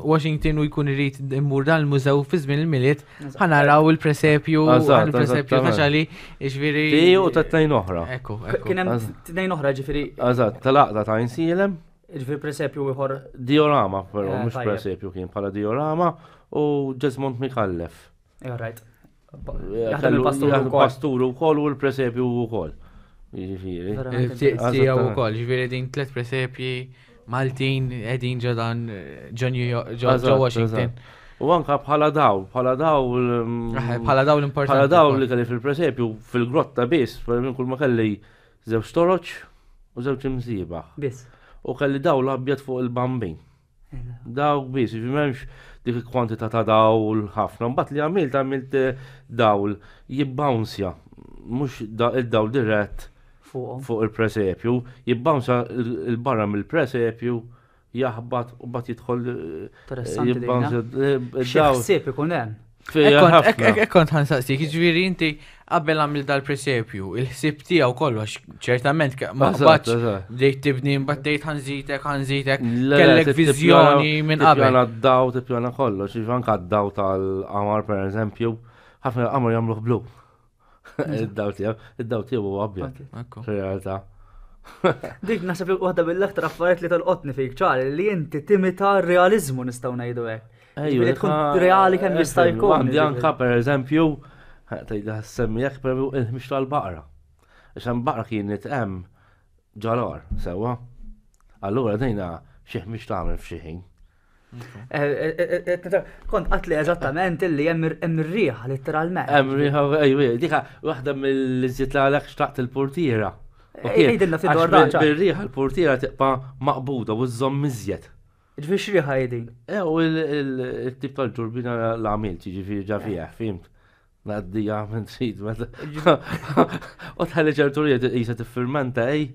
Washington u jkun irid imur dan il-mużew fi żmien il-Milied, ħanaraw il-presepju, il-presepju ta' ċali, jiġifieri. U ta' tnejn oħra. Ekku, Kien hemm tnejn oħra ġifieri. Eżatt, tal-għaqda ta' Insielem. Ġifieri presepju ieħor. Diorama, però, eh, mhux presepju kien bħala diorama u Jesmond Mikallef. Eh, right. Eh, jaħdem il-pastur ukoll u l-presepju ukoll. Jiġifieri. Tiegħu ukoll, jiġifieri din tliet presepji Maltin qegħdin ġo dan ġo ġo Washington. U anka bħala daw, bħala daw. Mm, bħala daw l-importanti. Bħala daw li kelli fil-presepju fil-grotta biss, minn kull ma kelli Żewġ toroċ u żewġ imsiebaħ. Biss. U kelli dawl abjad fuq il-bambin. Dawk biss, jiġifieri m'hemmx dik il-kwantità ta' dawl ħafna. Mbagħad li għamilt għamilt eh, dawl jibbawnsja, mhux id-dawl dirett fuq il-presepju, jibbawnsja il-barra mill-presepju jaħbat u bat jidħol eh, eh, Xi ħsieb ikun hemm. Ekk kont ħansaqsik, jiġifieri inti qabel għamil dal-presepju, il-ħsieb tiegħu kollox, ċertament ma qbadx bdejt tibni mbagħad tgħid ħanżitek, ħanżitek, kellek viżjoni minn qabel. Tippjana d-daw, tippjana kollox, jiġifieri anke d-daw tal-qamar pereżempju, ħafna qamar jagħmluh blu. Id-daw tiegħu, id-daw tiegħu huwa abjad. Fir-realtà. Dik naħseb li waħda mill-aktar affarijiet li tolqotni fik ċar li inti timita r-realiżmu nistgħu ngħidu hekk. Ejju, tkun reali kemm jista' jkun. Għandi anka pereżempju, tgħidha semmi jekk pereżempju il-ħmix tal-baqra. Għax hemm baqra kienet hemm ġalar, sewwa. Allura dejna xi ħmix tagħmel f'xi ħin. Eh, eh, eh, kont qatli eżattament illi hemm riħa letteralment. Hemm riħa, ejju, dika waħda mill-iżjed li għalhekk xtaqt il-portiera. Ejdilna fi dwar dan. Bir-riħa l-portiera tibqa' maqbuda u żżomm iżjed. Ġifieri x'riħa hi din? Eh, u il-tip tal-ġurbina l-għamilt, ġifieri ġa fih, fimt. Ngħaddija minn trid meta. U tħalli ċertu li jisa tiffirmenta ej.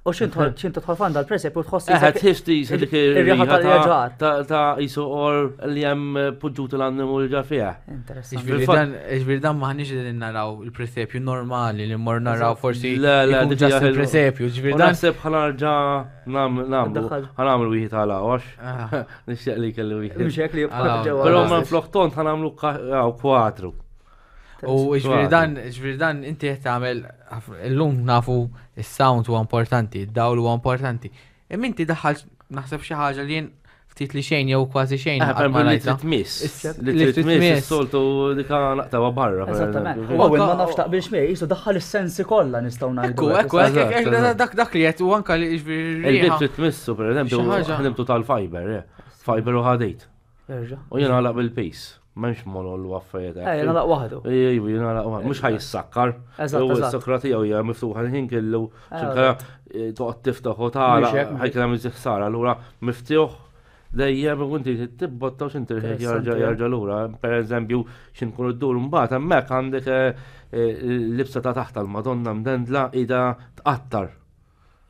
U xint tħol fan dal-presep u tħoss. Eh, tħoss jisa dik ir-riħa tal-ġar. Ta' jisu or li hemm poġġut l-annimu li ġa fiha. Ġifieri dan maħniex qegħdin naraw il-presepju normali li mmor naraw forsi. Le, le, dik il-presepju. Ġifieri dan. Naħseb ħanarġa nagħmlu ħanagħmlu wieħed għal għax. Ah. Nixtieq li kellu wieħed. Mhux hekk li jibqa' ġewwa. Però ma flok tont ħanagħmlu kwadru. U ġifieri dan, ġifieri dan inti qed tagħmel illum nafu is-sound huwa importanti, id-dawl huwa importanti. Imma inti daħħalt naħseb xi ħaġa li jien ftit li xejn jew kważi xejn. Eh, qatt per ma li rajtha. trid tmiss. Is- Li trid tmiss, is-soltu dika naqtawa barra. per Eżattament. eżempju. U Owen ma nafx taqbilx miegħi, jisu daħħal is-sensi kollha nistgħu ngħidu. Ekku, hekk, ekku, ekku, Eżatt, ekku, eżatt. dak dak li qed u anka li jiġifieri Il-bib riħa. trid tmissu, per eżempju, Xi ħaġa. ħdimtu tal-fiber, eh. Fiber u ħadit. Jerġa'. U jien għalaq bil-pis. M'hemmx molol u affarijiet. Eh, jien għalaq waħdu. Ejju, jien għalaq waħdu. Mhux ħajissakkar. Eżatt, U eżatt. s-sakra tiegħu hija miftuħa l-ħin kellu. Eh, Xinkara toqgħod tiftaħ u tagħlaq Mhux hekk, mhux ħajkun hemm iżjed ħsara. Allura miftuħ dejjem u inti tibbotta u x'inti Interessanti, jerġa' eh. jerġa' lura. Per eżempju, x'inkunu ddur mbagħad hemmhekk għandek eh, eh, l-libsa ta' taħt tal-Madonna mdendla ida tqattar.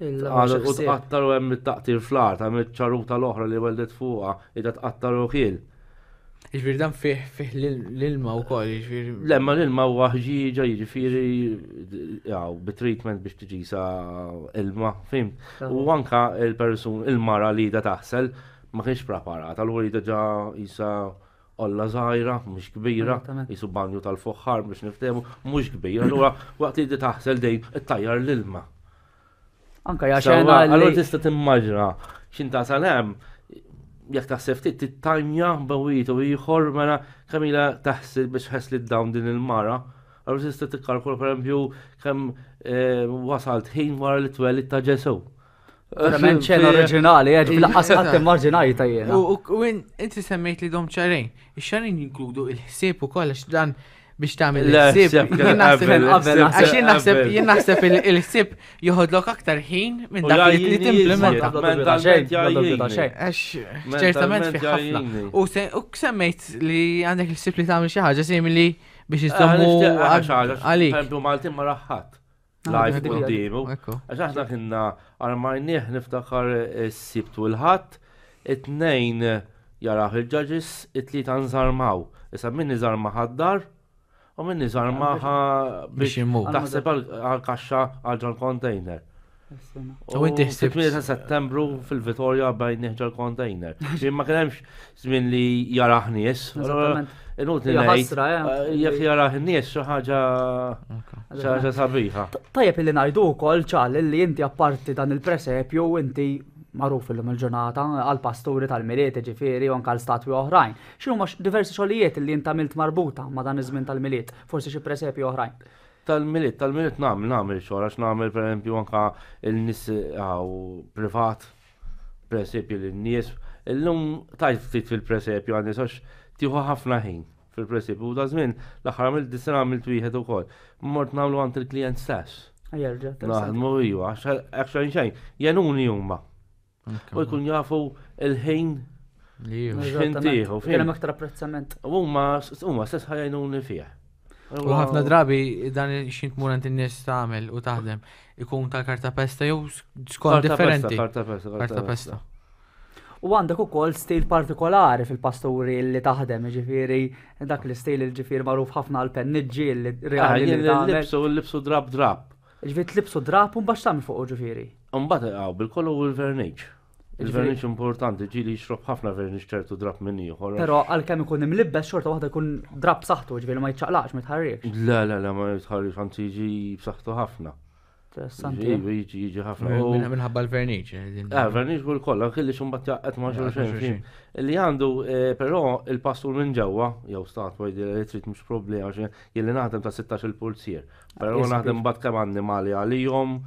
Il- Għada u tqattar u hemm it-taqtir fl-art, hemm iċ-ċaruta l-oħra li weldet fuqha, ida tqattar u kiel. Jiġifieri dan fih fih l-ilma wkoll, jiġifieri. Le, ma l-ilma huwa ħġieġa, jiġifieri jaw, bit-treatment biex tiġi sa ilma, fim. U anka il-persun, il-mara li da taħsel, ma kienx preparata, allura li ġa jisa olla żgħira, mhux kbira, Esattament. jisu banju tal-foħħar biex niftehmu, mhux kbira, allura waqt li di taħsel dejn ittajjar l-ilma. Anka hija Sewwa, xena Allura li tista' timmaġina x'inta sal hemm jekk taħseb ftit tittajmja bawit u ieħor mela kemm ilha taħsel biex ħeslit dawn din il-mara. Allura tista' tikkalkula pereżempju kemm eh, wasalt ħin wara li twelid ta' Ġesu. verament xena oriġinali, eh, ġifieri laqqas qatt immaġinajta jiena. U u inti semmejt li dom ċarejn. Ix-xarejn jinkludu il-ħsieb ukoll għax dan biex tagħmel Le, il-ħsieb. ħsieb kien Jien naħseb qabel, qabel, ħsieb Għax jien naħseb qabel. jien naħseb il-ħsieb joħodlok aktar ħin minn U dak li li jgħajjini timplementa. iżjed. Mentalment jgħajjini. Għax ċertament fi ħafna. jgħajjini. U se- u semmejt li għandek il-ħsieb li tagħmel xi ħaġa simili biex Eh, iżommu nixtieq għax ħaġa, għalik. Pereżempju Maltin ma raħħat. Ah, Live dik hija. quddiemu. Ekku. Għax aħna kienna armajnieh niftakar is-sibt u l-ħadd, it-tnejn jaraw il-judges, it-tlieta nżarmaw. Issa min iżarma ħaddar u min iżarma Biex biex imur. taħseb għal-kaxxa għal ġol container. U inti ħsibt- fit-8 ta' settembru fil-Vitorja bajnieh ġol container. Ġi ma kien hemmx żmien li jarah nies. Eżattament. Inutli Hija ngħid. ħasra, eh. Jekk jarah nies xi ħaġa xi ħaġa sabiħa. Tajjeb illi ngħidu wkoll ċal illi inti apparti dan il-presepju inti magħruf illum il-ġurnata għal pasturi tal-Milied ġifieri u anke għal statwi oħrajn. X'inhuma x- diversi xogħlijiet illi inti għamilt marbuta ma' dan iż-żmien tal-Milied, forsi xi presepju oħrajn. Tal-miliet, tal-miliet nagħmel, nagħmel xogħol għax nagħmel pereżempju anka il-nies għaw privat, presepju lin-nies. Illum tajt ftit fil-presepju għan-nies għax tieħu ħafna ħin fil-presepju u da żmien l-aħħar għamilt dis-sena għamilt wieħed ukoll. Mort nagħmlu għand il-klient stess. Jerġa' interessanti. Naħdmu iva, għax hekk xejn xejn, jenuni huma. U jkun jafu il-ħin Li ju. X'ħin Eżattament. tieħu, Kien hemm fim. aktar apprezzament. u huma huma stess ħajjnuni fih. U ħafna drabi dan xin tmur għand in-nies tagħmel u taħdem ikun tal-karta pesta jew skont Karta pesta, differenti. Karta pesta, Karta pesta. U għandek ukoll stil partikolari fil-pasturi li taħdem, ġifieri dak l-istil li ġifieri magħruf ħafna għal penniġġi li Ah, reali li jien tagħmel. L-libsu, l-libsu drab drab. Ġifieri tlibsu drap u mbagħad tagħmel fuq ġifieri. Mbagħad għaw bil-kollu u l-verniċ. Il-verniċ importanti, ġili jixrob ħafna verniċ ċertu drab minn ieħor. Però għalkemm ikun imlibbes xorta waħda jkun drab b'saħħtu, ġifieri ma jiċċaqlaqx, ma jitħarrikx. Le, le, le, ma jitħarrix, anzi jiġi b'saħħtu ħafna. Interessanti. Jiġi, jiġi, jiġi ħafna. U- Minħabba l-verniċ. eh, Eh, verniċ u l-koll, anki li xumbat jaqqet ma' xulxin. xulxin. Li għandu, eh, però, il-pastur minn ġewwa, jew statwa li trid mhux problema, għax jien li naħdem ta' 16 il-pulzier. Però Yes, naħdem bad kemm annimali għalihom,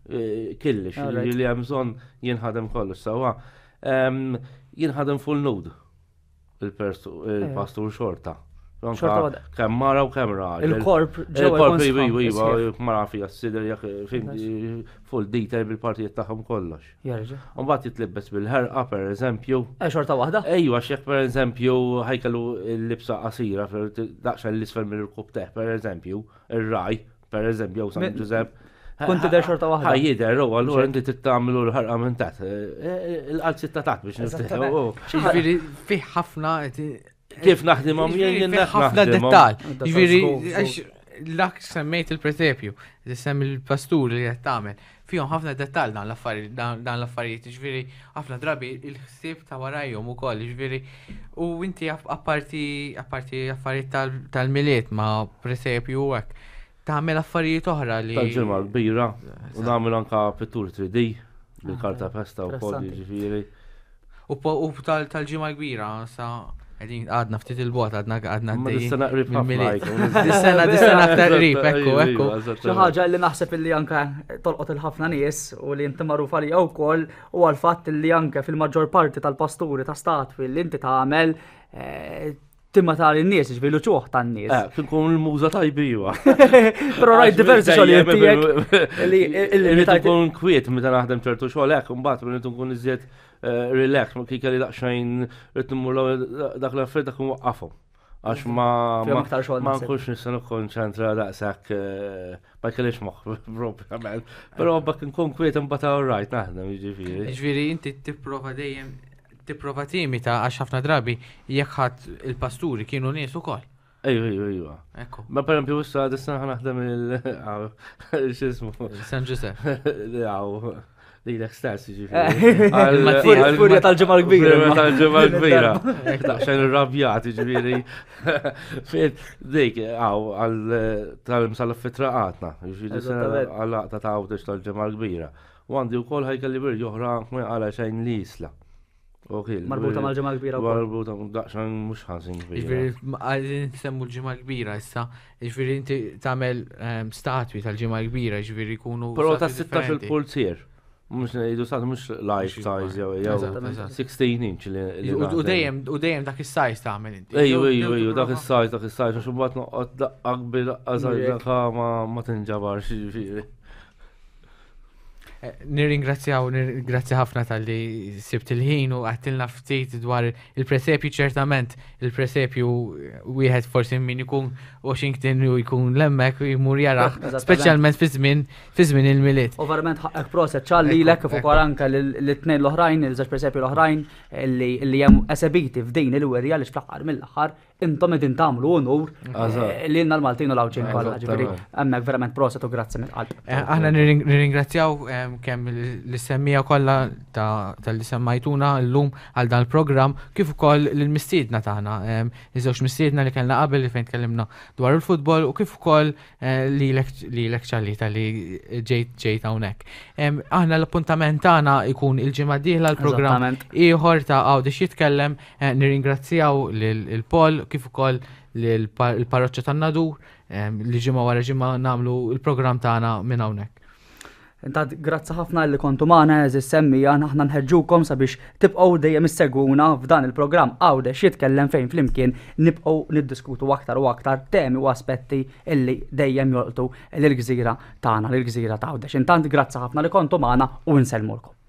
eh, killix, Alright. li li hemm bżonn jinħadem kollox sewwa. Em, Jinħadem full nude il-pastur xorta. Anka Eh. Xorta waħda. Kemm mara u kemm raġel. Il-korp ġewwa Il-korp jkun iva, sħan, iva, iva, sħiħ. mara fija s-sider, jekk fin full detail bil-partijiet tagħhom kollox. Jerġa'. Mbagħad jitlibbes bil-ħerqa per eżempju. Eh, xorta waħda? Ejwa, xek per eżempju ħajkellu l-libsa qasira daqsxejn l-isfel mill-rkub teħ, per eżempju, ir-raj, per eżempju, jew San Mi- Giuseppe. Kont tidher xorta waħda. Ħaj jidher, u allura inti tittamlu l-ħarqa minn taħt. Eh, Il-qalzi ta' taħt biex Eżattament. niftehmu. Ġifieri fih ħafna Kif naħdimhom jien Ġifieri jien fih ħafna naħdimhom. dettal. Dettal Ġifieri żgur, għax dak semmejt il-presepju, li semmi il-pastur li qed tagħmel. Fihom ħafna dettal dan l-affarijiet dan l-affarijiet, ġifieri ħafna drabi il-ħsieb ta' warajhom ukoll, ġifieri u inti app- apparti apparti affarijiet tal- tal-miliet ma' presepju u hekk tagħmel affarijiet oħra li Tal-ġimgħa kbira u nagħmel anka pittur 3D. Bil-karta pesta wkoll jiġifieri. U tal-ġimgħa kbira sa Għedin għadna ftit il-bot, għadna għadna. Ma dis-sena qrib ħafna. Dis-sena, dis-sena aktar qrib, ekku, ekku. Xi ħaġa li naħseb illi anke tolqot il-ħafna nies u li inti magħruf għalija wkoll u għal-fatt li anke fil-maġġor parti tal-pasturi ta' statwi li inti tagħmel eh, timma ta' l-nies, ġifieri l-uċuħ tan-nies. Eh, kien kun l-muża tajbija. Però rajt diversi xogħlijiet tiegħek li li tkun kwiet meta naħdem ċertu xogħol hekk, imbagħad meta tkun iżjed eh, relax, ma kien kelli daqsxejn rrid immur dak l-affarijiet dak nwaqqafhom. Għax ma ma nkunx nista' nikkonċentra daqshekk eh, ma kellix moħħ propjament. Però bak nkun kwiet imbagħad all right naħdem jiġifieri. Jiġifieri inti tipprova dejjem tipprova timita għax ħafna drabi jekk ħadd il-pasturi kienu nies ukoll. Ejju, ejju, ejju. Ekku. Ma per esempio issa dis-sena ħa naħdem il x'ismu. San Giuseppe. Għaw, lilek stess jiġifieri. Furja tal-ġimgħa l-kbira. Furja tal-ġimgħa l-kbira. Daqsxejn irrabjat jiġifieri. Fejn dik għaw għal tal-imsallaf fit-traqatna, jiġifieri għal-laqta ta' għawdex tal-ġimgħa l-kbira. U għandi wkoll ħajkelli birdi oħra ma jaqala xejn li jisla. Marbuta mal-ġimgħa kbira wkoll. Marbuta daqsxejn mhux ħażin kbira. Jiġifieri għalin semmu l-ġimgħa kbira issa, jiġifieri inti tagħmel ehm, statwi tal-ġimgħa kbira, jiġifieri jkunu. Però ta' 16 il-pulzier. Mux ngħidu sa mhux life size jew jew 16 inch li. U dejjem u dejjem dak is-size tagħmel inti. Ejju ejju ejju dak is-size dak is-size għax imbagħad noqgħod daqqa kbir daqqa żgħir ma tinġabarx jiġifieri. Eh, nirringrazzjaw, grazzi ħafna tal-li sibt il-ħin u għattilna ftit dwar il-presepju ċertament, il-presepju wieħed forsi min ikun Washington u jkun lemmek u jmur jaraħ, speċjalment fi żmien fi żmien il-miliet. U verament ħaqqek proset ċalli lilek kif ukoll anke l-tnejn l-oħrajn, il-żewġ presepju l-oħrajn li hemm esebiti f'din il-wirja li fl-aħħar mill-aħħar intom qegħdin tagħmlu unur eh, lilna l-Maltin u l-Għawdxin kollha, ġifieri hemmhekk verament proset u grazzi mill-qalb. Eh, aħna nirringrazzjaw eh, kemm l-semmija kollha tal-li semmajtuna llum għal dan il-programm kif ukoll l-mistiedna tagħna. Iż-żewġ mistiedna li kellna qabel li fejn tkellimna dwar il-futbol u kif ukoll lilek ċalli tal-li ġejt ġejt hawnhekk. Aħna l-appuntament tagħna jkun il-ġimgħa dieħla l-programm ieħor ta' Għawdex jitkellem Eh, nirringrazzjaw lil Paul kif ukoll lill-parroċċa tan-Nadur eh, li ġimgħa wara ġimgħa nagħmlu l-programm tagħna minn hawnhekk. Intant grazzi ħafna li kontu magħna eżis semmija aħna nħeġġukom sabiex tibqgħu dejjem issegwuna f'dan il-programm Għawdex jitkellem fejn flimkien nibqgħu niddiskutu aktar u aktar temi u aspetti illi dejjem jolqtu lill-gżira tagħna, lill-gżira ta' Għawdex. Intant grazzi ħafna li kontu magħna u nsellmulkom.